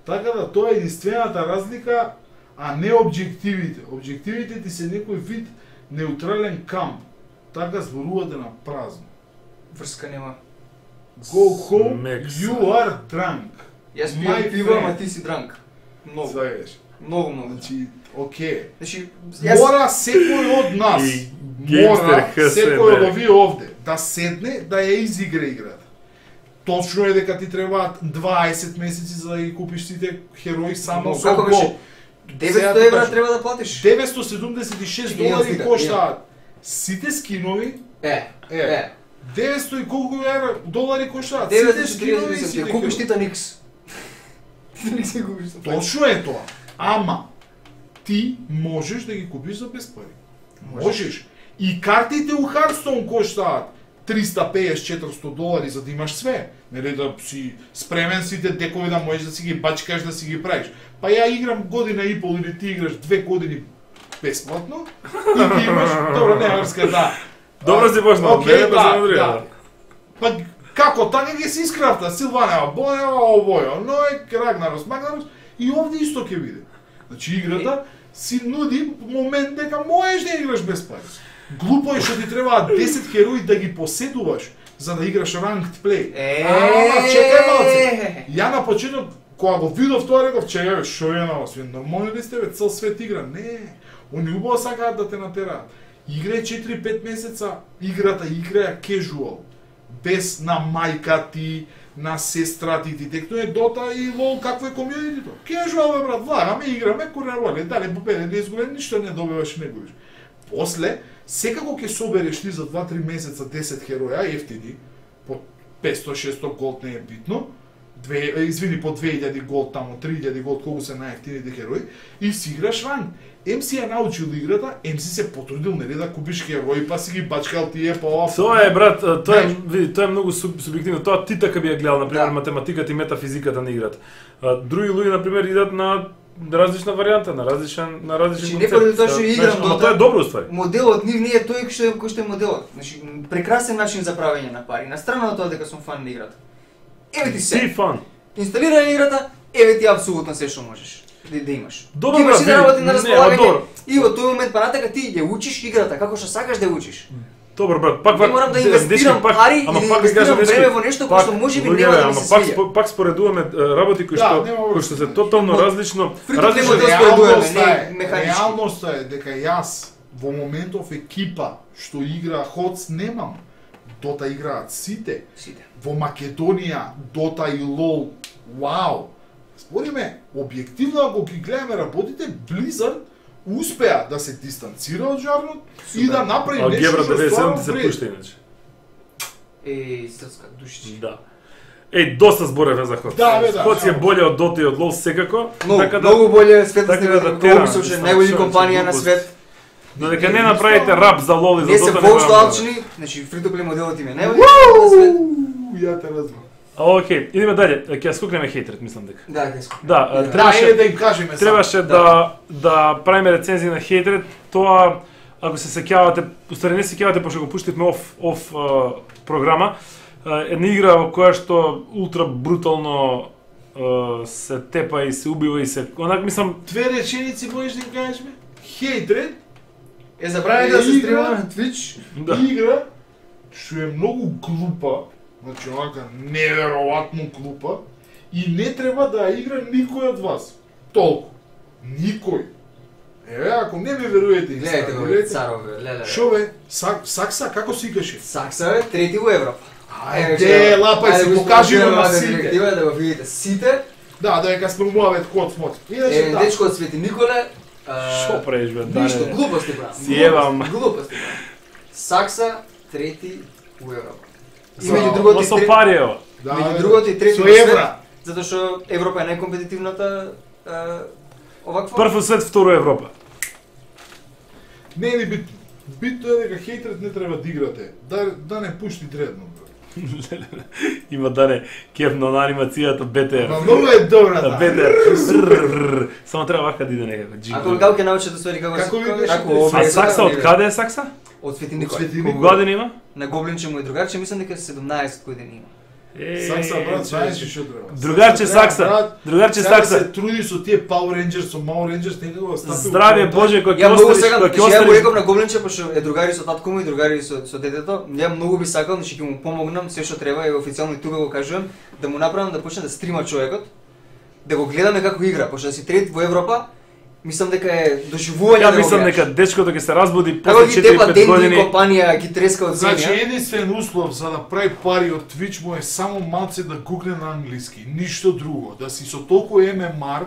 B: Така да тоа е единствената разлика, а не објективите. Објективите ти се некој вид неутрален камп. Така зборувате на празно.
C: Врска нема.
B: Go home,
A: Смек
B: you
A: са.
B: are drunk.
C: Јас
B: My
C: пијам пиво,
B: friend.
C: ама ти си дранк. Многу,
B: Знаеш.
C: многу, многу.
B: Значи, окей.
C: Значи, јас
B: Мора секој од нас,
A: И геймстер
B: мора
A: ХС,
B: секој од
A: бе.
B: овие овде да седне да ја изигра играта. Точно е дека ти требаат дваесет месеци за да ги купиш сите херои само
C: Но
B: со
C: како беше?
B: гол.
C: деветсто
B: Сега ти
C: евра
B: кажам.
C: треба да платиш.
B: деветстотини седумдесет и шест
C: Имам
B: долари
C: слика,
B: коштаат сите скинови.
C: Е,
B: Е,
C: е.
B: деветсто и колку евра долари коштаат сите
C: деветсто и
B: скинови и
C: четиридесет
B: сите
C: ти купиш
B: херои.
C: Титан Икс. Титан Икс ги купиш за пари.
B: Точно е тоа. Ама ти можеш да ги купиш за без пари. Можеш. И картите у Hearthstone коштаат триста песет четиристо долари за да имаш све, нели да си спремен сите декови да можеш да си ги бачкаш, да си ги правиш. Па ја играм година и пол или ти играш две години бесплатно и ти имаш, добро, не врска, да.
A: Добро си почнал,
B: окей,
A: не,
B: да,
A: да,
B: да. Па како така ги се искрафта Силванева, Боева, Обојо, Ној, Рагнарос, Магнарос и овде исто ќе биде. Значи играта си нуди момент дека можеш да играш без пари. Глупо е што ти требаат десет херои да ги поседуваш за да играш ranked play. Ама чекај малце. Ја на почеток кога го видов тоа реков, чекај, шо е на вас? Нормално ли сте бе, цел свет игра? Не. Они убаво сакаат да те натераат. Играј четири-пет месеца, играта играја casual. Без на мајка ти, на сестра ти, ти текно е Дота и лол, какво е комјунитито? Casual бе брат, влагаме, играме, курневоле, дали победе, не изгубен, ништо не добиваш и не губиш. После, секако ќе собереш ти за два-три месеца десет хероја, ефтини, по петсто-шестсто голд не е битно, две, извини, по две илјади голд таму, три илјади голд, колку се најефтините херои, и си играш ранг. Ем си ја научил играта, ем си се потрудил, нели, да купиш херои, па си ги бачкал тие, па ова.
A: Тоа е, брат, тоа е, види, тоа е многу субјективно. Тоа ти така би ја гледал, на пример,
C: да.
A: математиката и метафизиката на играта. Други луѓе, на пример, идат на различна варијанта, на различен на различен
C: концепт. Не поради тоа што играм Дота.
A: Ама тоа е добро уствари.
C: Моделот нив не е тој кој што е кој што е моделот. Значи прекрасен начин за правење на пари. На страна од тоа дека сум фан на играта. Еве ти се.
A: Ти фан.
C: Инсталирај играта, еве ти апсолутно се што можеш да, да имаш.
A: Добро,
C: имаш да работи на располагање. И во тој момент паратека ти ја учиш играта како што сакаш да ја учиш.
A: Добро, брат, пак
C: не морам да инвестирам
A: пак,
C: пари
A: ама
C: или
A: пак
C: да инвестирам
A: дечки,
C: време во нешто кое што можеби нема да ми се
A: пак,
C: свиѓа.
A: пак споредуваме работи кои што
B: да,
A: кои што се тотално различно,
C: различно
B: реалноста е,
C: механички.
B: реалноста е дека јас во моментов екипа што игра Ходс немам. Дота играат сите.
C: Сите.
B: Во Македонија Дота и лол. Вау. Спориме, објективно ако ги гледаме работите, Blizzard успеа да се дистанцира од жанрот и да направи
A: а
B: нешто
A: Гебра
B: што
A: деветдесет и седум
B: стварно
A: се
B: вреди.
A: пушта иначе.
C: Е, срцка душичи.
A: Да. Еј, доста зборевме за Ходс.
B: Да, бе, да,
A: Ходс е
B: да.
A: боле од Дота и од лол секако,
C: Многу,
A: така да
C: многу боле светот
A: така
C: така
A: да
C: да
A: тераме,
C: мислам че
A: мислам,
C: најголи
A: човече,
C: компанија на
A: глупост.
C: свет.
A: додека не направите рап за лол и за
C: Не се
A: Дота
C: воопшто
A: нема-
C: алчни, значи free to play моделот им е најголи на свет.
B: Ја те разбрав.
A: А, окей, идеме дале. Ќе ја скокнеме хејтерот, мислам дека.
C: Да, кај
A: Да,
C: Да.
B: Да,
A: требаше
B: е да им кажеме само.
A: требаше да да правиме рецензии на хејтерот, тоа ако се сеќавате, устари не се сеќавате пошто го пуштивме оф оф а, програма, а, една игра во која што ултра брутално а, се тепа и се убива и се онак мислам
B: Две реченици можеш да им кажеш ме? Хейтред,
C: Е забравени да се
B: Игра.
C: стрима на Twitch.
A: да.
B: игра што е многу глупа, значи онака неверојатно глупа и не треба да ја игра никој од вас. Толку. Никој. Еве, ако не ме верувате,
C: Гледајте го, бе, царове, леле.
B: Шо бе? Сак, Сакса, како си каше?
C: Сакса е трети во Европа.
B: Ајде, лапај си, покажи го на сите.
C: Директива да го видите сите.
B: Да, да дека спрумуваме код смот. Иначе
C: Е,
B: да.
C: дечко од Свети Николе.
A: Што правиш бе?
C: Ништо,
A: Дане?
C: глупости брат.
A: Си ебам.
C: Глупости брат. Сакса трети во Европа. И
B: За-
C: меѓу другото
A: Но
C: и
A: со
C: трети-
A: парио.
B: Да,
C: меѓу
B: бе,
C: другото и трети
B: со
C: во свет,
B: евра.
C: затоа што Европа е најкомпетитивната е, оваква.
A: Прво свет, второ Европа.
B: Не е ни битно. Битно е дека хейтерот не треба да играте. Да, да не пушти дредно. бе.
A: Има Дане кефно на анимацијата Б Т Р.
B: Ма многу е добра, да.
A: Б Т Р. Само треба вака да иде некако
C: Ако
A: джингл.
C: како ќе научите ствари како
B: Како
C: се
B: викаш,
C: како
B: ти?
C: овие
A: А Сакса од каде е Сакса?
C: Од Свети
B: Од
C: Николе.
B: Свети
A: Колку
B: Николе.
A: години има?
C: На Гоблинче му е другарче, мислам дека седумнаесет години има.
A: Е,
B: Сакса, брат, знаеш
A: човече.
B: што треба.
A: Другарче
B: Сакса треба,
A: Сакса,
B: брат,
A: другарче
B: сега да
A: Сакса.
B: се труди со тие Power Rangers, со Mao Rangers, некако да стапи.
A: Здравје Боже, кој ќе
C: Ја многу
A: оставиш,
C: сакам,
A: кој ќе
C: значи ја го
A: оставиш.
C: реков на Гоблинче, пошто е другари со татко му и другари со, со детето. Ја многу би сакал, значи ќе му помогнам се што треба и официјално и тука го кажувам, да му направам да почне да стрима човекот, да го гледаме како игра, пошто да си трет во Европа, мислам дека е доживување
A: Ја
C: да го
A: мислам
C: гледаш.
A: дека дечкото ќе се разбуди
C: Како
A: после
C: ги тепа
A: четири-пет
C: денди
A: години.
C: компанија ги треска од
B: Значи,
C: земја.
B: единствен услов за да прави пари од Twitch му е само малце да гугне на англиски, ништо друго. Да си со толку М М Р,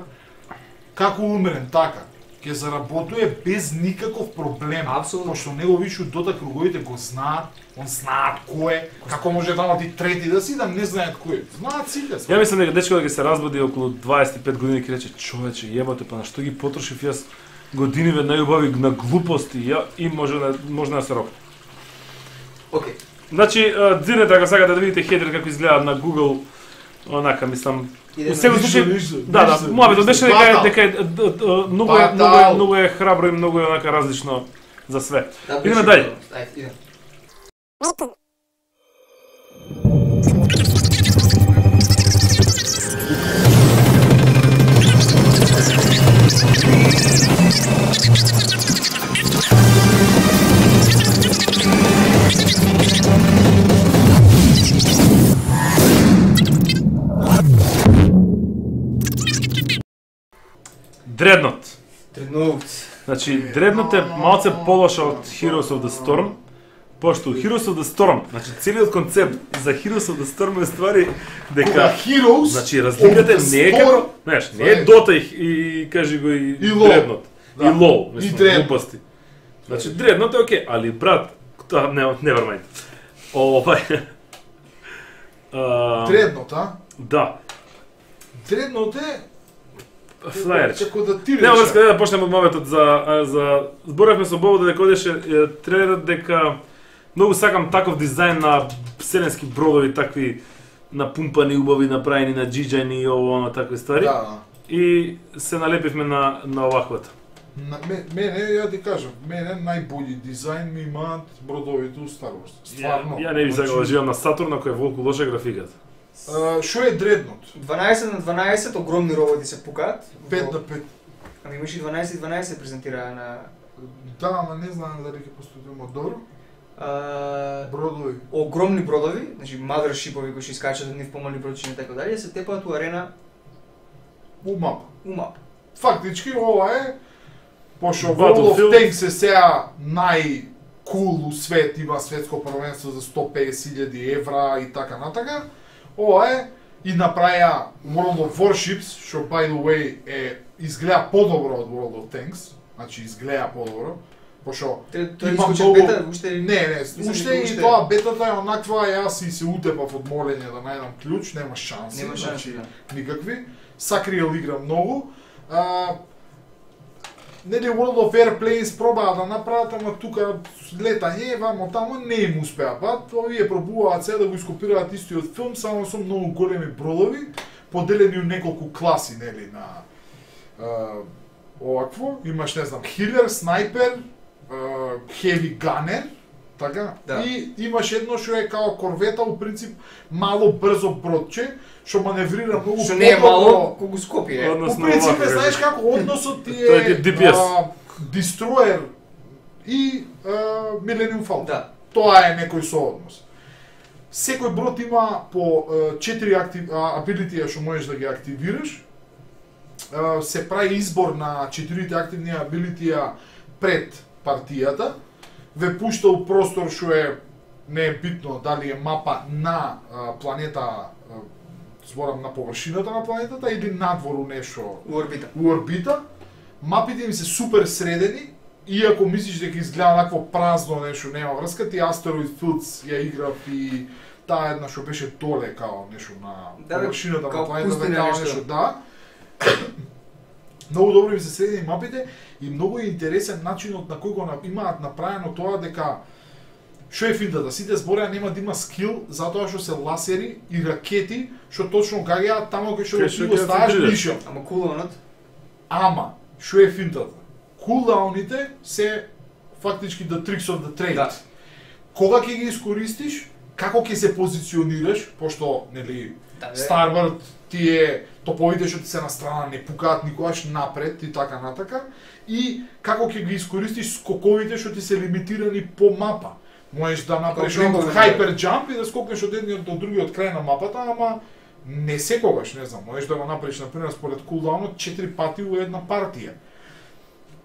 B: како умрен, така. Ќе заработува без никаков проблем.
C: Апсолутно.
B: Пошто него вишу дота круговите го знаат, он знаат кој е, како може да ти трети да си, да не знаат кој е. Знаат сите.
A: Ја мислам дека дечкото ќе се разбуди околу дваесет и пет години ќе рече човече, јебате, па на што ги потрошив јас годиниве најубави на глупости, ја и може да може да се рокне.
C: Океј.
A: Значи, дзирнете ако сакате да видите хейтер како изгледа на Google, онака мислам. Во секој случај, да, да, мојот беше дека дека многу е многу е многу е храбро и многу е онака различно за све. Идеме даје.
C: Ајде, идеме.
A: Дреднот.
C: Дредноут.
A: Значи, Дреднот е малце полоша од Heroes of the Storm, пошто Heroes of the Storm, значи целиот концепт за Heroes of the Storm е ствари дека
B: Кога Heroes,
A: значи разликата не е како, знаеш, не е Dota и, и кажи го и,
B: и
A: Дреднот.
B: Да.
A: И LoL,
B: И
A: мислам,
B: Dreadnought.
A: глупости. Значи, Дреднот е окей, али брат, тоа не, never mind. Овај. А,
B: Дреднот, а?
A: Да.
B: Дреднот е
A: Флаерч.
B: како да ти
A: Нема врска
B: рече.
A: да почнеме од моветот за за зборавме со Бобо дека одеше трейлерот дека многу сакам таков дизајн на вселенски бродови, такви напумпани, убави, направени на джиджани и ово оно такви ствари.
B: Да, да.
A: И се налепивме на на оваквото.
B: На ме- мене, ја ти кажам, мене најбољи дизајн ми имаат бродовите у Star Wars. Стварно.
A: Ја не би сакал да живеам на Сатурн, ако е волку лоша графиката.
B: А, Шо е Дреднот?
C: дванаесет на дванаесет огромни роботи се пукаат.
B: пет
C: Во-
B: на пет.
C: Ами имаше и дванаесет и дванаесет презентираа на
B: Да, ама не знам дали ќе постудиме добро.
C: а,
B: Бродови.
C: огромни бродови, значи мазершипови кои што искачат од нив помали бродчиња и така дали, се тепаат у арена
B: У мапа.
C: у мап.
B: Фактички ова е пошто
A: Battlefield.
B: World of Tanks е сега нај кул у свет, има светско првенство за сто песет илјади евра и така натака. Ова е и направија World of Warships, што by the way е изгледа подобро од World of Tanks, значи изгледа подобро, пошто
C: Тре- Тоа
B: има
C: искочи
B: многу-
C: бета, уште
B: Не, не,
C: Мислам
B: уште
C: дека
B: и
C: уште-
B: тоа бетата е онаква, јас и се утепав од молење да најдам клjuč, нема шанси,
C: Нема шанси,
B: значи
C: да.
B: никакви. Сакриел игра многу. А, нели World of Airplanes пробаа да направат, ама тука летање, вамо тамо не им успеа. Па, овие пробуваат се да го ископираат истиот филм, само со многу големи бродови, поделени у неколку класи, нели, на а, овакво. Имаш, не знам, хилер, снайпер, хеви ганер, така?
C: Да.
B: И имаш едно што е као корвета, у принцип, мало брзо бродче, што маневрира многу
C: што не е
B: подобро.
C: мало, колку Скопје.
A: Одно-
B: По
A: Односно,
B: принцип,
A: овако,
B: знаеш
A: како-
B: како односот ти
A: Тоа е
B: е
A: Ди Пи Ес.
B: а, Destroyer и а, Millennium Falcon.
C: Да.
B: Тоа е некој сооднос. Секој брод има по а, четири актив, а, абилитија што можеш да ги активираш. А, се прави избор на четирите активни абилитија пред партијата. Ве пушта у простор што е не е битно дали е мапа на а, планета, а, зборам на површината на планетата или надвору нешто
C: У орбита.
B: у орбита. Мапите им се супер средени, иако мислиш дека изгледа накво празно нешто, нема врска, ти Asteroid Fields ја играв и таа една што беше доле као нешто на
C: Да, бе,
B: површината
C: као
B: на планетата,
C: пустина
B: као
C: нешто.
B: нешто, да. Многу добро им се средени мапите и многу е интересен начинот на кој го на- имаат направено тоа дека што е финтата, сите збореа нема да има скил затоа што се ласери и ракети што точно гаѓаат тамо кај што
A: Кај
B: го
A: што
B: ти го
A: ќе
B: ставаш
A: се
B: мишјот.
C: Ама кулонот,
B: Ама, што е финтата? Кулдауните се фактички the tricks of the trade.
C: Да.
B: Кога ќе ги искористиш, како ќе се позиционираш, пошто, нели,
C: да, бе.
B: Starboard ти е топовите што ти се на страна не пукаат никогаш напред и така натака, и како ќе ги искористиш скоковите што ти се лимитирани по мапа. Можеш да направиш
C: Како
B: некој
C: джампови,
B: хайпер джамп и да скокнеш од едниот до другиот крај на мапата, ама не секогаш, не знам, можеш да го направиш на пример според кулдаунот четири пати во една партија.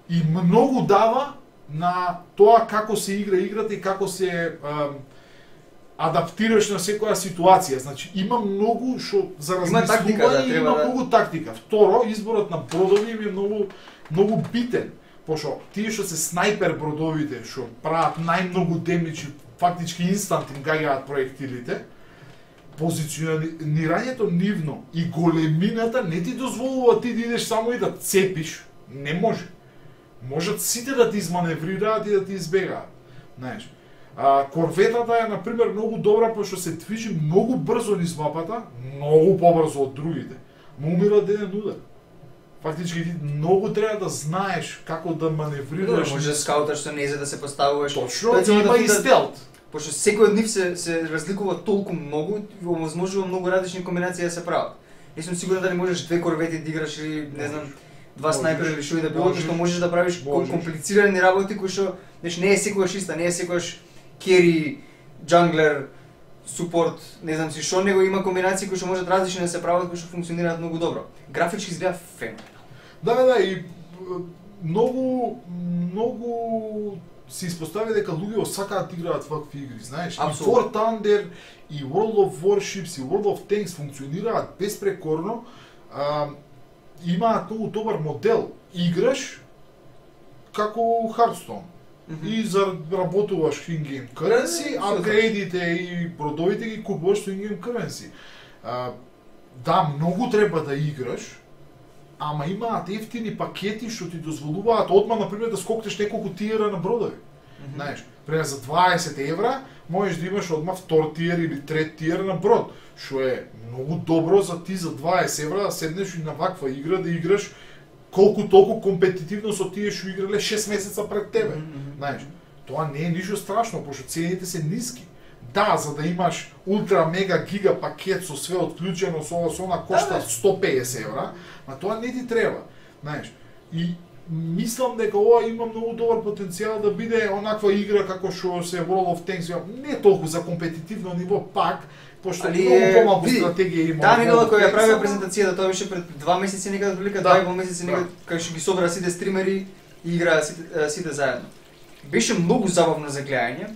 B: И многу дава на тоа како се игра играта и како се ам, адаптираш на секоја ситуација. Значи има многу што за
C: Има тактика, да,
B: размислување,
C: треба
B: има
C: да-
B: многу тактика. Второ, изборот на бродови им е многу многу битен, пошто тие што се снайпер бродовите што прават најмногу демидж, фактички инстант им гаѓаат проектилите, позиционирањето нивно и големината не ти дозволува ти да идеш само и да цепиш, не може. Можат сите да ти изманеврираат и да ти избегаат. Знаеш. А, корветата е, например, многу добра, пошто се движи многу брзо низ мапата, многу побрзо од другите. Ма умира ден удар. Фактички ти многу треба да знаеш како да маневрираш.
C: Може да скауташ со незе да се поставуваш.
B: Точно,
C: Тоа ќе
B: има
C: да-
B: и стелт.
C: Пошто секој од нив се се разликува толку многу, и овозможува многу различни комбинации да се прават. Не сум сигурен дали можеш две корвети да играш или не знам два
B: Можеш.
C: снайпера или што и да било,
B: Можеш.
C: што можеш да правиш
B: Можеш.
C: комплицирани работи кои што знаеш не е секогаш иста, не е секогаш кери, джанглер, супорт, не знам си што, него има комбинации кои што можат различни да се прават, кои што функционираат многу добро. Графички изгледа феноменално.
B: Да, да, да, и е, многу, многу се испостави дека луѓето сакаат да играат вакви игри, знаеш?
C: Апсолутно.
B: И War Thunder, и World of Warships, и World of Tanks функционираат безпрекорно, а, имаат многу добар модел. Играш како Hearthstone. И заработуваш in-game currency,
C: Да, да,
B: апгрейдите и бродовите ги купуваш со in-game currency. А, да, многу треба да играш, ама имаат ефтини пакети што ти дозволуваат одма, например, да скокнеш неколку тиера на бродови. Знаеш, пример за дваесет евра можеш да имаш одма втор тиер или трет тиер на брод, што е многу добро за ти за дваесет евра да седнеш и на ваква игра да играш колку толку компетитивно со тие што играле шест месеца пред тебе. Знаеш, тоа не е ништо страшно, пошто цените се ниски. Да, за да имаш ултра мега гига пакет со све отклучено, со ова со она кошта сто песет евра, а тоа не ти треба, знаеш. И мислам дека ова има многу добар потенцијал да биде онаква игра како што се World of Tanks, не толку за компетитивно ниво пак, пошто
C: Али
B: многу
C: е,
B: помалку
C: види,
B: стратегија има.
C: Таа негова
B: World of
C: која ја
B: Tanks,
C: правиа
B: ама-
C: презентацијата, тоа беше пред два месеци некаде прилика,
B: Да.
C: два и пол месеци
B: Да.
C: некаде кај што ги собра сите стримери и играа сите, сите заедно. Беше многу забавно за гледање,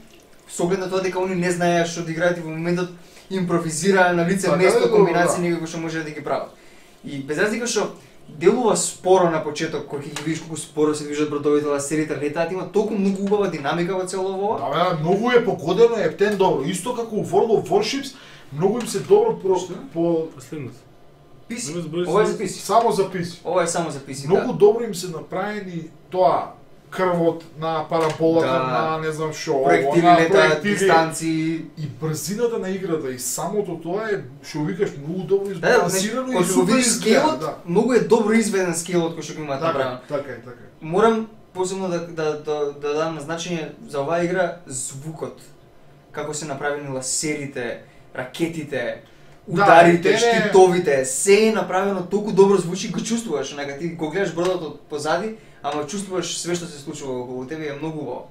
C: со оглед на тоа дека они не знаеа што да играат и во моментот импровизираа на лице
B: Па, да,
C: место
B: да,
C: комбинации
B: да.
C: некако што може да ги прават. И без разлика што делува споро на почеток, кога ќе ги видиш колку споро се движат бродовите, ласерите, летаат, има толку многу убава динамика во цело ова.
B: Да, бе, многу е погодено, е птен добро. Исто како у World of Warships, многу им се добро про,
C: Што?
B: по
A: Последното.
C: Писи.
A: Не ме збори
C: Ова е
A: се-
C: за писи.
B: само записи.
C: Ова е само за писи,
B: Многу
C: да.
B: добро им се направени тоа крвот на параболата,
C: Да.
B: на не знам што,
C: Проектили
B: она,
C: летаат,
B: проектили.
C: дистанции.
B: И брзината на играта и самото тоа е што викаш многу добро
C: Да, да,
B: избалансирано
C: кога
B: и
C: што го
B: супер
C: видиш
B: изгледа,
C: скелот,
B: да.
C: многу е добро изведен скелот кој што го имаат
B: Така,
C: направено.
B: така е, така е.
C: Морам посебно да да да да дадам на значење за оваа игра звукот. Како се направени ласерите, ракетите,
B: Да,
C: ударите,
B: те не-
C: штитовите, се е направено толку добро звучи, го чувствуваш, онака ти го гледаш бродот од позади, ама чувствуваш све што се случува околу тебе, е многу убаво.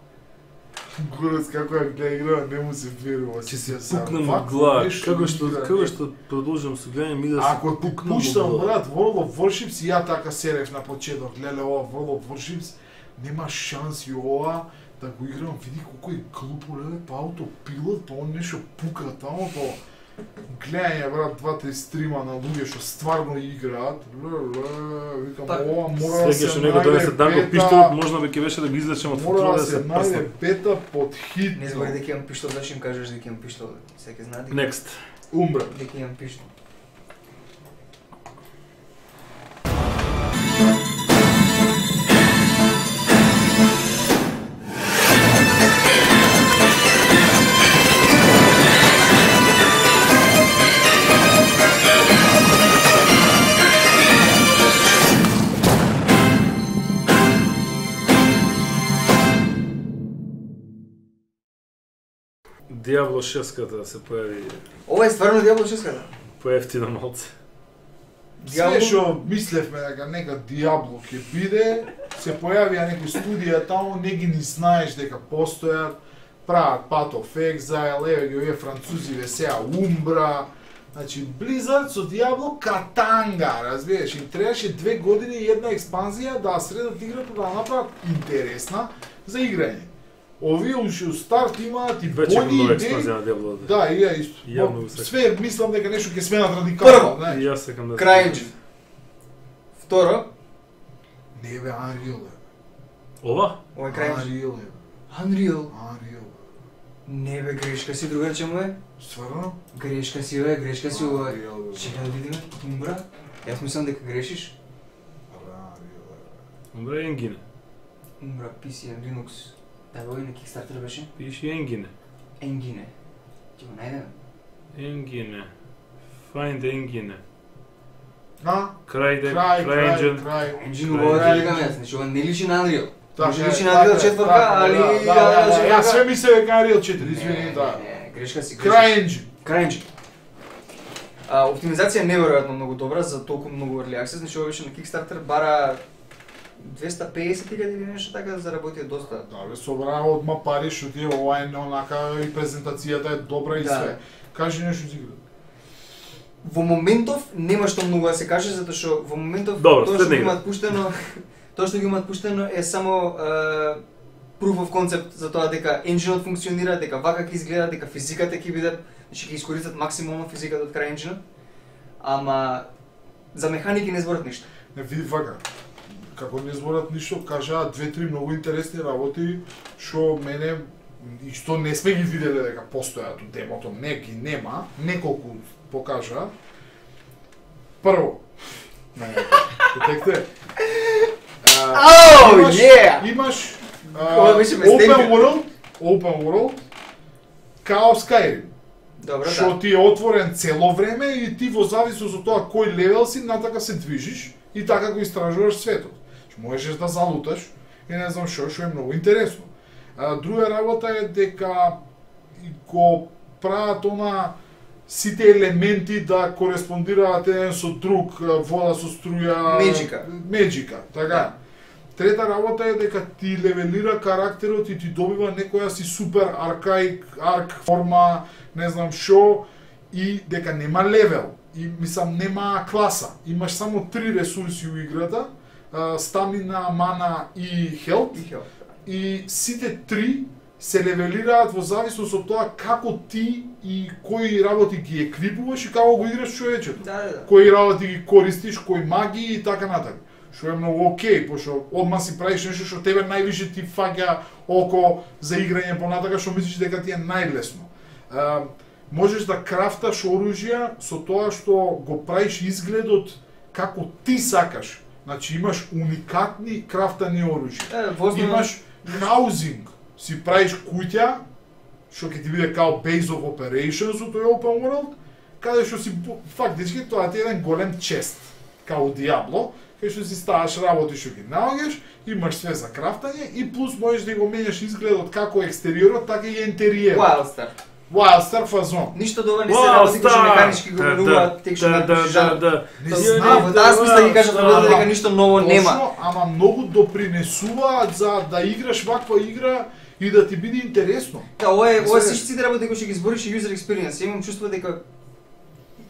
B: Горец како ја гледа игра, не му се верува.
A: Ќе се
B: Сега,
A: пукнам
B: вакво
A: од глава.
B: нешто
A: Како што
B: игра,
A: како
B: не.
A: што продолжам со гледање ми да се
B: Ако ти
A: пукнам од
B: пуштам
A: глава.
B: брат World of Warships, и ја така серев на почеток, леле ова World of Warships, нема шанси ова да го играм, види колку е глупо, леле, па аутопилот, тоа нешто пука таму, то гледање брат два-три стрима на луѓе што стварно играат, леле, викам
C: Така.
B: ова мора да
A: Сега
B: се
A: што него донесе
B: најде
A: Данко
B: бета,
A: пиштолот, можна би ќе беше да го излечем од
B: мора
A: футбол
B: да
A: да
B: се
A: се
B: најде
A: прстам.
B: бета под хит.
C: Не збори дека имам пиштол, зашто им кажеш дека имам пиштол? Сега знаат дека,
A: Next.
B: Умбра.
C: дека имам пиштол.
A: Диабло шеската се појави
C: Ова е стварно Диабло шеската.
A: поевтино малце.
B: Све што мислевме дека нека Диабло ќе биде, се појавија некои студија таму, не ги ни знаеш дека постојат, прават Path of Exile, еве ги овие французиве сеа Умбра, значи Blizzard со Диабло катанга, разбираш, им требаше две години и една експанзија да ја средат играта, да ја направат интересна за играње. Овие уште у старт имаат и
A: Вече има
B: бони
A: нова
B: идеи.
A: експанзија на Диабло.
B: Да, и ја исто.
A: Јавно го сакам.
B: Све мислам дека нешто ќе сменат радикално,
C: Прво,
B: знаеш.
A: И јас сакам да
C: Крајнџ. Второ,
B: Не бе, Unreal е.
A: Ова?
C: ова е Крајнџ.
B: Unreal е.
C: Unreal.
B: Unreal.
C: Не бе, грешка си, другар чему е?
B: Стварно?
C: Грешка си, бе, грешка си, ова е.
B: Unreal, бе.
C: Чекай да видиме, Умбра. Јас мислам дека грешиш.
B: Unreal, бе.
A: Умбре енгине.
C: Умбра, пи си, Linux. Да, го на Kickstarter беше?
A: Пиши Engine.
C: Engine. Ќе го најдеме.
A: Engine. Find Engine.
B: А?
A: Крај де,
B: Крај,
A: крај
B: крај,
A: Engine.
B: крај.
C: Engine го викам јас, значи ова не личи на Unreal.
B: Така
C: Може
B: е,
C: личи на
B: така
C: Unreal
B: е,
C: четвртка,
B: така е,
C: али
B: да, да,
C: Unreal
B: да, да,
C: четвртка-
B: Јас све мислев дека Unreal четири, извини,
C: Не,
B: да.
C: не, не, грешка си.
B: Крај Engine.
C: CryEngine. А, оптимизација неверојатно многу добра за толку многу early access, значи ова беше на Kickstarter бара двеста и песет илјади или нешто така да заработи доста.
B: Да, бе, собраа одма пари, што ти ова е онака и презентацијата е добра и
C: Да.
B: све. Кажи нешто за играта.
C: Во моментов нема што многу да се каже затоа што во моментов
A: Добро,
C: тоа што
A: следна
C: ги
A: игра.
C: имаат пуштено, тоа што ги имаат пуштено е само е, proof of concept за тоа дека енџинот функционира, дека вака ќе изгледа, дека физиката ќе биде, значи ќе искористат максимално физиката од крај енџинот. Ама за механики не зборат ништо.
B: Не види вака. Како не зборат ништо, кажаа две-три многу интересни работи што мене и што не сме ги виделе дека постојат од демото, не ги нема, неколку покажа. Прво, детекте.
C: Oh,
B: имаш,
C: yeah!
B: имаш
C: Ова
B: а,
C: беше ме
B: Open
C: стенка.
B: World, Open World, као Skyrim.
C: Добро,
B: Што
C: да.
B: ти е отворен цело време и ти во зависност од тоа кој левел си, натака се движиш и така го истражуваш светот. Што можеш да залуташ и не знам што, што е многу интересно. А, друга работа е дека и го прават она сите елементи да кореспондираат еден со друг, вода со струја,
C: Меджика.
B: меджика, така. Трета работа е дека ти левелира карактерот и ти добива некоја си супер аркаик, арк форма, не знам шо, и дека нема левел, и мислам нема класа. Имаш само три ресурси у играта, а, стамина, мана и хелп,
C: И хел.
B: и сите три се левелираат во зависност од тоа како ти и кои работи ги еквипуваш и како го играш човечето.
C: Да, да, да.
B: Кои работи ги користиш, кои магии и така натаму. Што е многу окей, пошто одма си правиш нешто што тебе највише ти фаќа око за играње понатака, што мислиш дека ти е најлесно. А, можеш да крафташ оружја со тоа што го правиш изгледот како ти сакаш. Значи имаш уникатни крафтани оружја.
C: Е, во основа-
B: Имаш хаузинг, си правиш куќа, што ќе ти биде као base of operations од тој open world, каде што си фактички тоа ти е еден голем чест, као Диабло, кај што си ставаш работи што ги наоѓаш, имаш све за крафтање и плюс можеш да го менеш изгледот како екстериорот, така и интериерот.
C: Wildstar.
B: Wildstar фазон.
C: Ништо дова не се работи кои што механички го менуваат тек што
A: да, да,
C: напишеш
A: да,
C: жанр.
A: да.
B: Не
C: Тоа-
B: знам,
C: во таа смисла ги кажат
A: Ама-
C: дека ништо ново нема.
B: Точно, ама многу допринесуваат за да играш ваква игра и да ти биде интересно.
C: Да, ова е, ова
B: Се-
C: сите сите работи кои што ги збориш и user experience. Имам чувство дека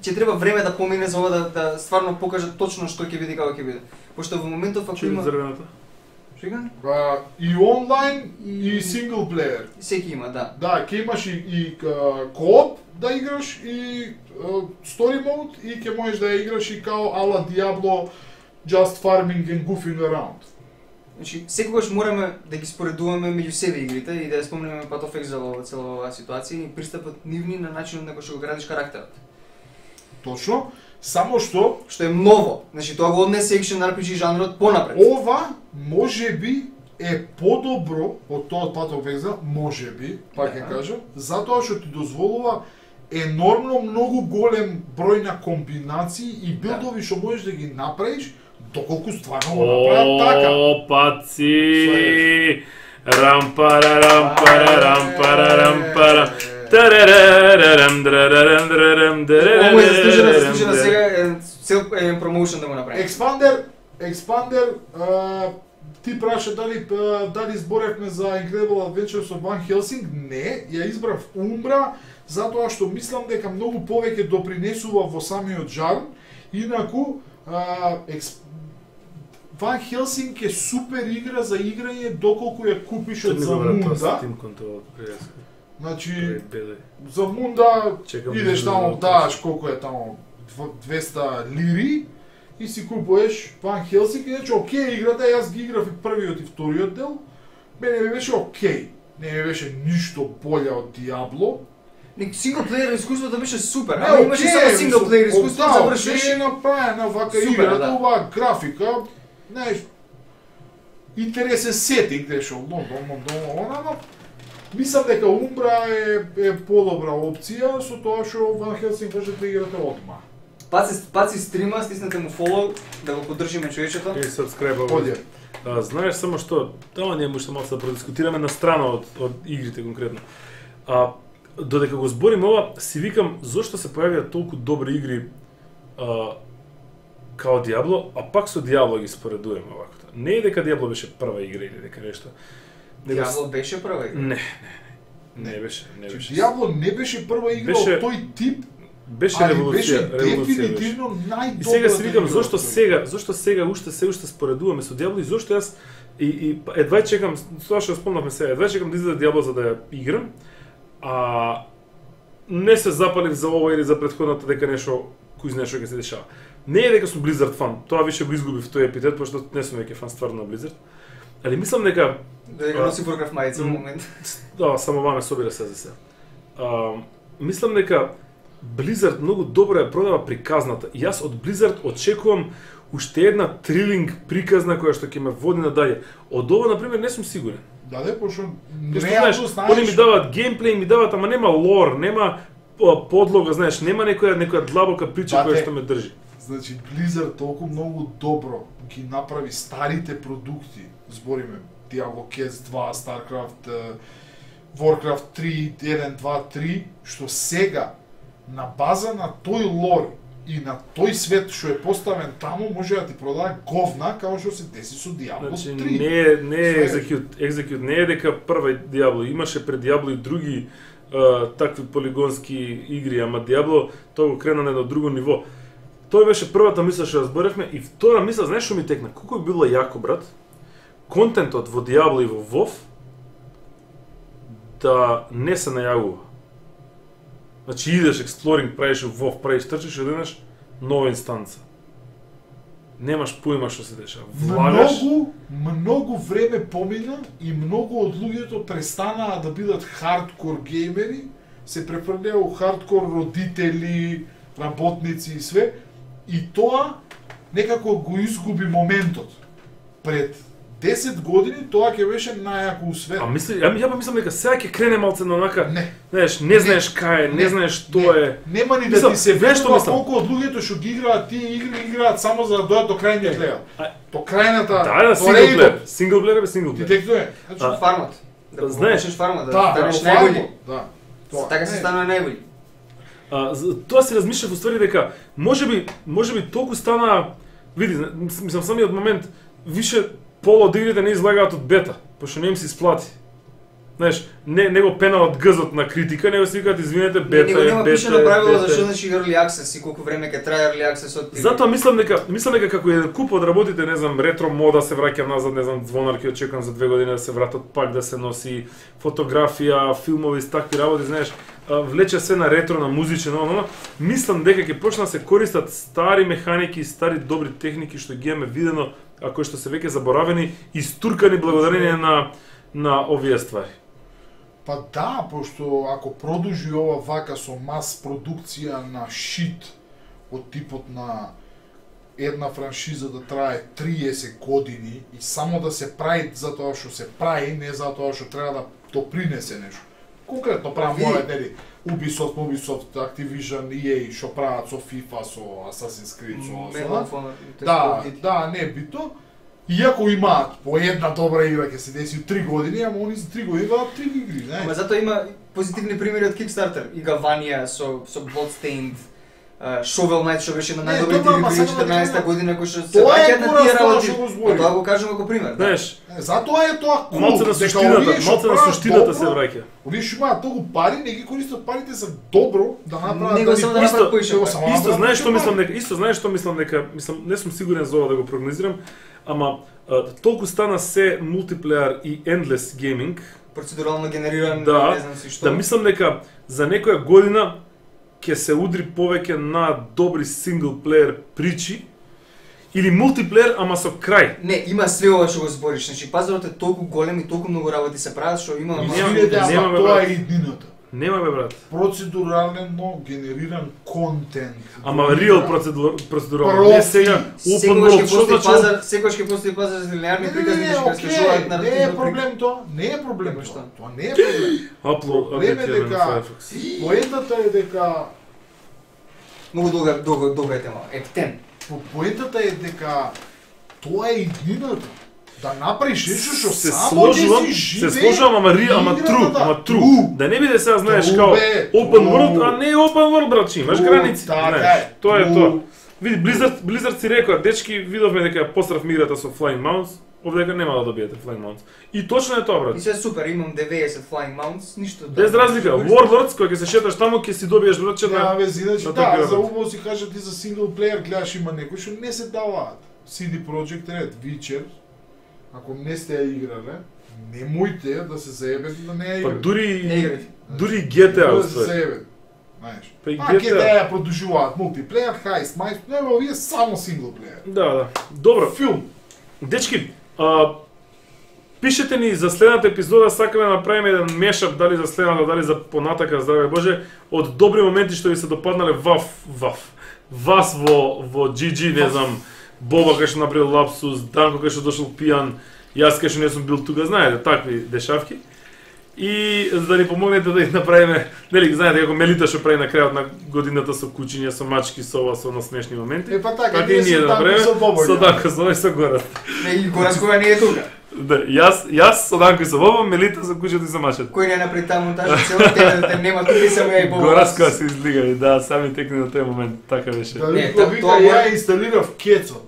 C: ќе треба време да помине за ова да, да стварно покажат точно што ќе биде и како ќе биде. Пошто во моментов ако
A: Чули
C: има
A: зрвената?
C: Шега?
B: А, и онлайн и
C: И-
B: сингл плеер.
C: Секи има, да.
B: Да, ќе имаш и, и а, кооп да играш и а, story mode и ќе можеш да ја играш и као ала Diablo just farming and goofing around.
C: Значи, секогаш мораме да ги споредуваме меѓу себе игрите и да ја спомнеме Path of Exile во цела оваа ситуација и пристапот нивни на начинот на кој што го градиш карактерот.
B: Точно, само што
C: Што е ново. Значи, тоа го однесе екшен ар пи джи жанрот понапред.
B: ова можеби е подобро од тоа од Path of Exile, можеби, пак ќе
C: Да.
B: кажам, затоа што ти дозволува енормно многу голем број на комбинации и билдови што можеш да ги направиш доколку стварно го направат така.
A: О, паци! Рампара, рампара, рампара, рампара. Тарарарарам, драрарам, драрарам,
C: Ова му е заслужено, заслужено
A: драрарам,
C: сега е цел е промоушен да го направи.
B: Експандер, експандер, а, ти праша дали а, дали зборевме за Incredible Adventures of Van Helsing? Не, ја избрав Умбра затоа што мислам дека многу повеќе допринесува во самиот жанр. Инаку а, екс... Van Helsing е супер игра за играње доколку ја купиш од за Мунда.
A: Steam Control, пријаска.
B: Значи
A: Беле.
B: за Мунда
A: Чекам
B: идеш
A: да
B: таму,
A: видам
B: даваш колку е таму двеста лири и си купуваш Van Helsing, иначе окей играта, јас ги играв и првиот и вториот дел, мене ми беше окей, не ми беше ништо боле од Диабло.
C: Ник синглплеер искуството беше супер,
B: Не,
C: ама имаше само
B: окей,
C: синглплеер
B: мислам,
C: искуство,
B: да,
C: завршиш.
B: окей е направена вака
C: Супер,
B: играта,
C: да.
B: оваа графика, знаеш, интерес се сетинг дека Лондон, Лондон, она, мислам дека Умбра е, е подобра опција со тоа што Ван Хелсинг можете да играте одма.
C: Паци, паци стрима, стиснете му фолоу, да го поддржиме човечето.
A: И subscribe.
B: Оде.
A: А, знаеш само што, тоа ние може малку да продискутираме на страна од, од игрите конкретно. А, додека го зборим ова, си викам зошто се појавија толку добри игри а, као Диабло, а пак со Диабло ги споредуваме овако. Не е дека Диабло беше прва игра или дека нешто.
C: Диабло беше прва игра?
A: Не, не, не, не беше, не беше.
B: Диабло не беше прва игра
A: Беше-
B: од тој тип,
A: Беше
B: али
A: револуција,
B: беше
A: револуција беше.
B: дефинитивно најдобрата.
A: И сега си викам
B: игра
A: зошто
B: од тој.
A: сега, зошто сега уште се уште споредуваме со Диабло и зошто јас и, и едва чекам, тоа што спомнавме сега, едва чекам да излезе Диабло за да ја играм, а не се запалив за ова или за претходната дека нешто кој знае што ќе се дешава. Не е дека сум Blizzard фан, тоа више го изгубив тој епитет, пошто не сум веќе фан стварно на Blizzard. Али мислам дека
C: Дека носи Warcraft мајца во момент.
A: да, само ваме собира се за се. А, мислам дека Blizzard многу добро ја продава приказната. И јас од Blizzard очекувам уште една трилинг приказна која што ќе ме води надале. Од ова, например, не сум сигурен.
B: Да, да, пошто
A: Пошто,
B: реално
A: знаеш,
B: знаеш.
A: они ми даваат геймплей, ми даваат, ама нема лор, нема а, подлога, знаеш, нема некоја некоја длабока прича
B: Бате,
A: која што ме држи.
B: Значи, Blizzard толку многу добро ги направи старите продукти, збориме, Diablo Cats два, StarCraft, е, Warcraft три, еден, два, три, што сега, на база на тој лор и на тој свет што е поставен таму, може да ти продава говна, како што се деси со Diablo
A: Значи,
B: три.
A: не е, не е
B: Све.
A: Execute, Execute не е дека прва Диабло, имаше пред Диабло и други а, такви полигонски игри, ама Диабло тоа го крена на едно друго ниво. Тоа беше првата мисла што ја зборевме и втора мисла, знаеш што ми текна? Колку би било јако, брат, контентот во Диабло и во WoW да не се најавува. Значи идеш експлоринг, правиш во WoW, правиш трчиш и одеднаш нова инстанца. Немаш поима што се дешава. Влагаш,
B: Многу, многу време помина и многу од луѓето престанаа да бидат хардкор геймери, се префрлеа у хардкор родители, работници и све, и тоа некако го изгуби моментот. Пред десет години тоа ќе беше најако у свет.
A: а мисли, ја, ја па мислам дека сега ќе крене малце на онака,
B: Не.
A: знаеш, не знаеш кај е, не,
B: Не.
A: знаеш што е.
B: Нема ни да
A: Мислам,
B: ти се
A: знаеш што
B: верува
A: мислам?
B: колку од луѓето што ги играат тие игри играат само за да дојдат до крајниот левел.
A: А-
B: До крајната.
A: Да, да,
B: до
A: синглплеер,
B: рейдот.
A: синглплеер бе синглплеер.
B: Детектуе. Значи,
A: А,
C: Фармот. Да
A: знаеш,
C: знаеш фармот, да
B: да,
C: станеш
B: во
C: најбољи.
B: фармот, да. Тоа.
C: Така се
B: Не.
C: станува најбољи.
A: А, за- тоа си размишлав уствари дека можеби можеби толку стана, види, мис- мислам самиот момент више пола од игрите не излагаат од бета, пошто не им се исплати. Знаеш, не не го пеналат гзот на критика, него си викаат извинете, бета
C: Него
A: е,
C: нема
A: бета
C: пишано
A: е,
C: правило
A: бета
C: за што
A: е.
C: значи early access и колку време ќе трае early access од тие.
A: Затоа мислам дека мислам дека како еден куп од работите, не знам, ретро мода се враќа назад, не знам, звонар ќе очекувам за две години да се вратат пак да се носи фотографија, филмови с такви работи, знаеш, а, влече се на ретро, на музичен, но, но, мислам дека ќе почна да се користат стари механики, стари добри техники што ги имаме видено, а кои што се веќе заборавени и стуркани благодарение на на овие ствари.
B: Па да, пошто ако продолжи ова вака со мас продукција на шит од типот на една франшиза да трае триесет години и само да се прави затоа што се прави, не затоа што треба да допринесе нешто. Конкретно правам
C: Види.
B: моја, нели, Ubisoft, Ubisoft, Activision, и ей, што прават со FIFA, со Assassin's Creed, со... со
C: Medal of Honor, тоест
B: Да,
C: Call of Duty.
B: да, не е бито. Иако имаат по една добра игра ќе се деси у три години, ама они за три години имаат три игри, знаеш.
C: Ама затоа има позитивни примери од Kickstarter. И Гаванија со со Bloodstained, uh, Shovel Knight што беше на
B: Не,
C: најдобрите
B: добро,
C: игри
B: ама
C: преди
B: сега да
C: четрнаесетта
B: кажам,
C: година кои што се
B: тоа е
C: враќаат на
B: пораз
C: тие
B: тоа
C: работи.
B: што го
C: А
B: зборим.
C: тоа го кажам како пример. Да.
A: Знаеш,
B: Е, затоа е тоа кул.
A: малце на
B: дека
A: суштината,
B: овие што
A: малце на
B: прават
A: суштината се
B: добро,
A: враќа.
B: Овие што имаат толку пари, не ги користат парите за добро да направат
C: Него само да
B: исто-
C: направат поише
B: него
C: пари.
B: само
A: Исто
B: направат
A: знаеш
B: поише
A: што мислам
B: пари.
A: дека исто знаеш што мислам дека мислам не сум сигурен за ова да го прогнозирам, ама а, толку стана се мултиплеер и endless gaming,
C: Процедурално генериран,
A: да,
C: не знам си што.
A: да мислам дека за некоја година ќе се удри повеќе на добри синглплеер причи или мултиплеер ама со крај.
C: Не, има све ова што го збориш. Значи пазарот е толку голем и толку многу работи се прават што има
A: И
C: ама-
A: нема-
B: Извинете, ама
A: немаме
B: тоа
A: брат.
B: е иднината.
A: Нема бе брат.
B: Процедурално генериран контент.
A: Ама
B: Во
A: реал
B: игра.
A: процедура процедурално.
B: Профи.
A: Не сега open
C: Секогаш
A: world,
C: ќе
A: што
C: постои
A: значи?
C: пазар, секогаш ќе постои пазар за линеарни
B: Не, не,
C: приказни
B: не,
C: што ќе
B: окей,
C: слушаат на
B: не е проблем тоа, не е проблем
C: Како
B: тоа.
C: што?
B: Тоа не е проблем.
A: Upload
B: Проблем е
A: update на
B: дека
A: Firefox.
B: поентата е дека
C: Многу долга долга долга е тема. Ептен.
B: по- поентата е дека тоа е иднината. Да направиш нешто што
A: Се
B: само ќе
A: сложувам,
B: си
A: се
B: живее.
A: сложувам, ама ри, ама
B: играта,
A: true,
B: да.
A: ама true.
B: True.
A: Да не биде сега знаеш
B: True,
A: као
B: бе,
A: open
B: true.
A: world, а не е open world братче, имаш
B: True,
A: граници.
B: така
A: знаеш.
B: е.
A: Тоа е
B: True.
A: тоа. Види Blizzard, Blizzard си рекоа, дечки, видовме дека ја пострафме играта со Flying Mounts, овде дека нема да добиете Flying Mounts. И точно е тоа
C: И
A: брат.
C: се супер, имам деветдесет flying mounts, ништо.
A: Без разлика, Warlords кој ќе се шеташ таму ќе си добиеш братче
B: Нема
A: на
B: вези, значи
A: на
B: да,
A: такива
B: за
A: работи.
B: убаво си кажа ти за сингл плеер гледаш има некои што не се даваат. си ди Projekt Red, Witcher, ако не сте ја играле, немојте да се заебете да не ја
A: Па
B: играте.
A: дури
C: Не играте.
A: дури G T A
B: Да се
A: уствари.
B: заебете. Знаеш.
A: Па и
B: Па
A: G
B: ќе
A: T A.
B: да ја продолжуваат мултиплеер, хајст, мајс, нема овие само сингл плеер.
A: Да, да. Добро.
B: Филм.
A: Дечки, а, пишете ни за следната епизода, сакаме да направиме еден мешап, дали за следната, дали за понатака, здраве Боже, од добри моменти што ви се допаднале вав, вав. Вас во во джи джи, не знам, Боба кај што направил лапсус, Данко кај што дошол пијан, јас кај што не сум бил тука, знаете, такви дешавки. И за да ни помогнете да ги направиме, нели, знаете како Мелита што прави на крајот на годината со кучиња, со мачки, со ова, со на смешни моменти.
B: Е па така,
A: Така
B: ние
A: и ние
B: со
A: да
B: Данко
A: направиме
B: со Бобо.
A: со
B: ја.
A: Данко, со овој со Горат.
C: Не, и Горас која не е тука.
A: Да, јас, јас со Данко и со Боба, Мелита со кучето и со мачето.
C: Кој не направи таа монтажа, цело тебе те нема тука и само ја и Бобо.
A: Гораска се излигали, да, сами текни на тој момент, така беше.
B: Да
C: Не,
B: ви
C: та-
B: вика,
C: тоа
B: ја
C: може-
B: инсталирав Кецот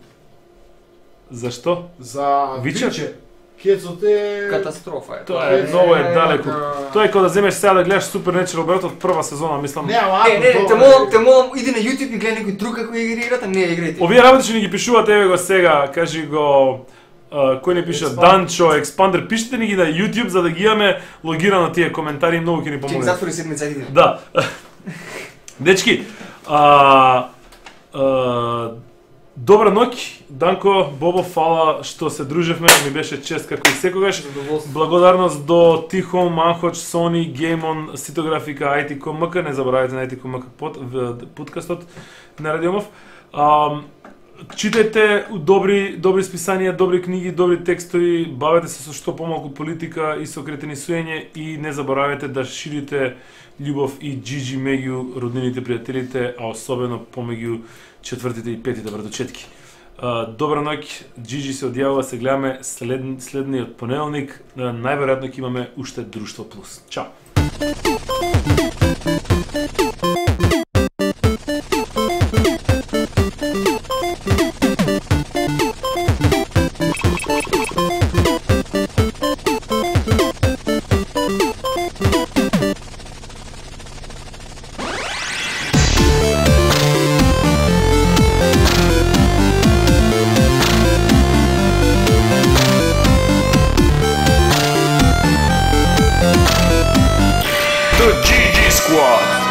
A: Зашто?
B: за
A: Witcher?
B: Witcher. Кецот е
C: Катастрофа е.
A: Тоа е
B: Е,
A: многу е
B: е,
A: далеко.
B: така.
A: Тоа е кога да земеш сега да гледаш Supernatural брат од прва сезона, мислам.
B: Не, ама
C: Не,
B: ако
C: не, не, те
B: тоа
C: молам,
B: е-
C: те молам, иди на YouTube и гледај некој друг како игри играта, не ја играјте.
A: Овие работи што ни ги пишуваат, еве го сега, кажи го а, кој не пише
B: Expander.
A: Данчо, Expander, пишете ни ги на YouTube за да ги имаме логирано тие коментари, многу ќе ни
C: Ќе им
A: помогне.
C: затвори седмица иди.
A: Да. Дечки, а, а, добра ноќ, Данко, Бобо, фала што се дружевме, ми беше чест како и секогаш.
C: Задоволство.
A: Благодарност до Тихо, Манхоч, Сони, Геймон, Ситографика, ай ти точка ком ек, не заборавајте на ай ти точка ком ек под, в- подкастот на Радиомов. Ам, читајте добри добри списанија, добри книги, добри текстови, бавете се со што помалку политика и со кретенисуење и не заборавајте да ширите љубов и джиджи меѓу роднините, пријателите, а особено помеѓу четвртите и петите братовчетки. А, добра ноќ, Джиджи се одјавува, се гледаме след, следниот понеделник, а, најверојатно ќе имаме уште Друштво Плюс. Чао!
E: The G G Squad.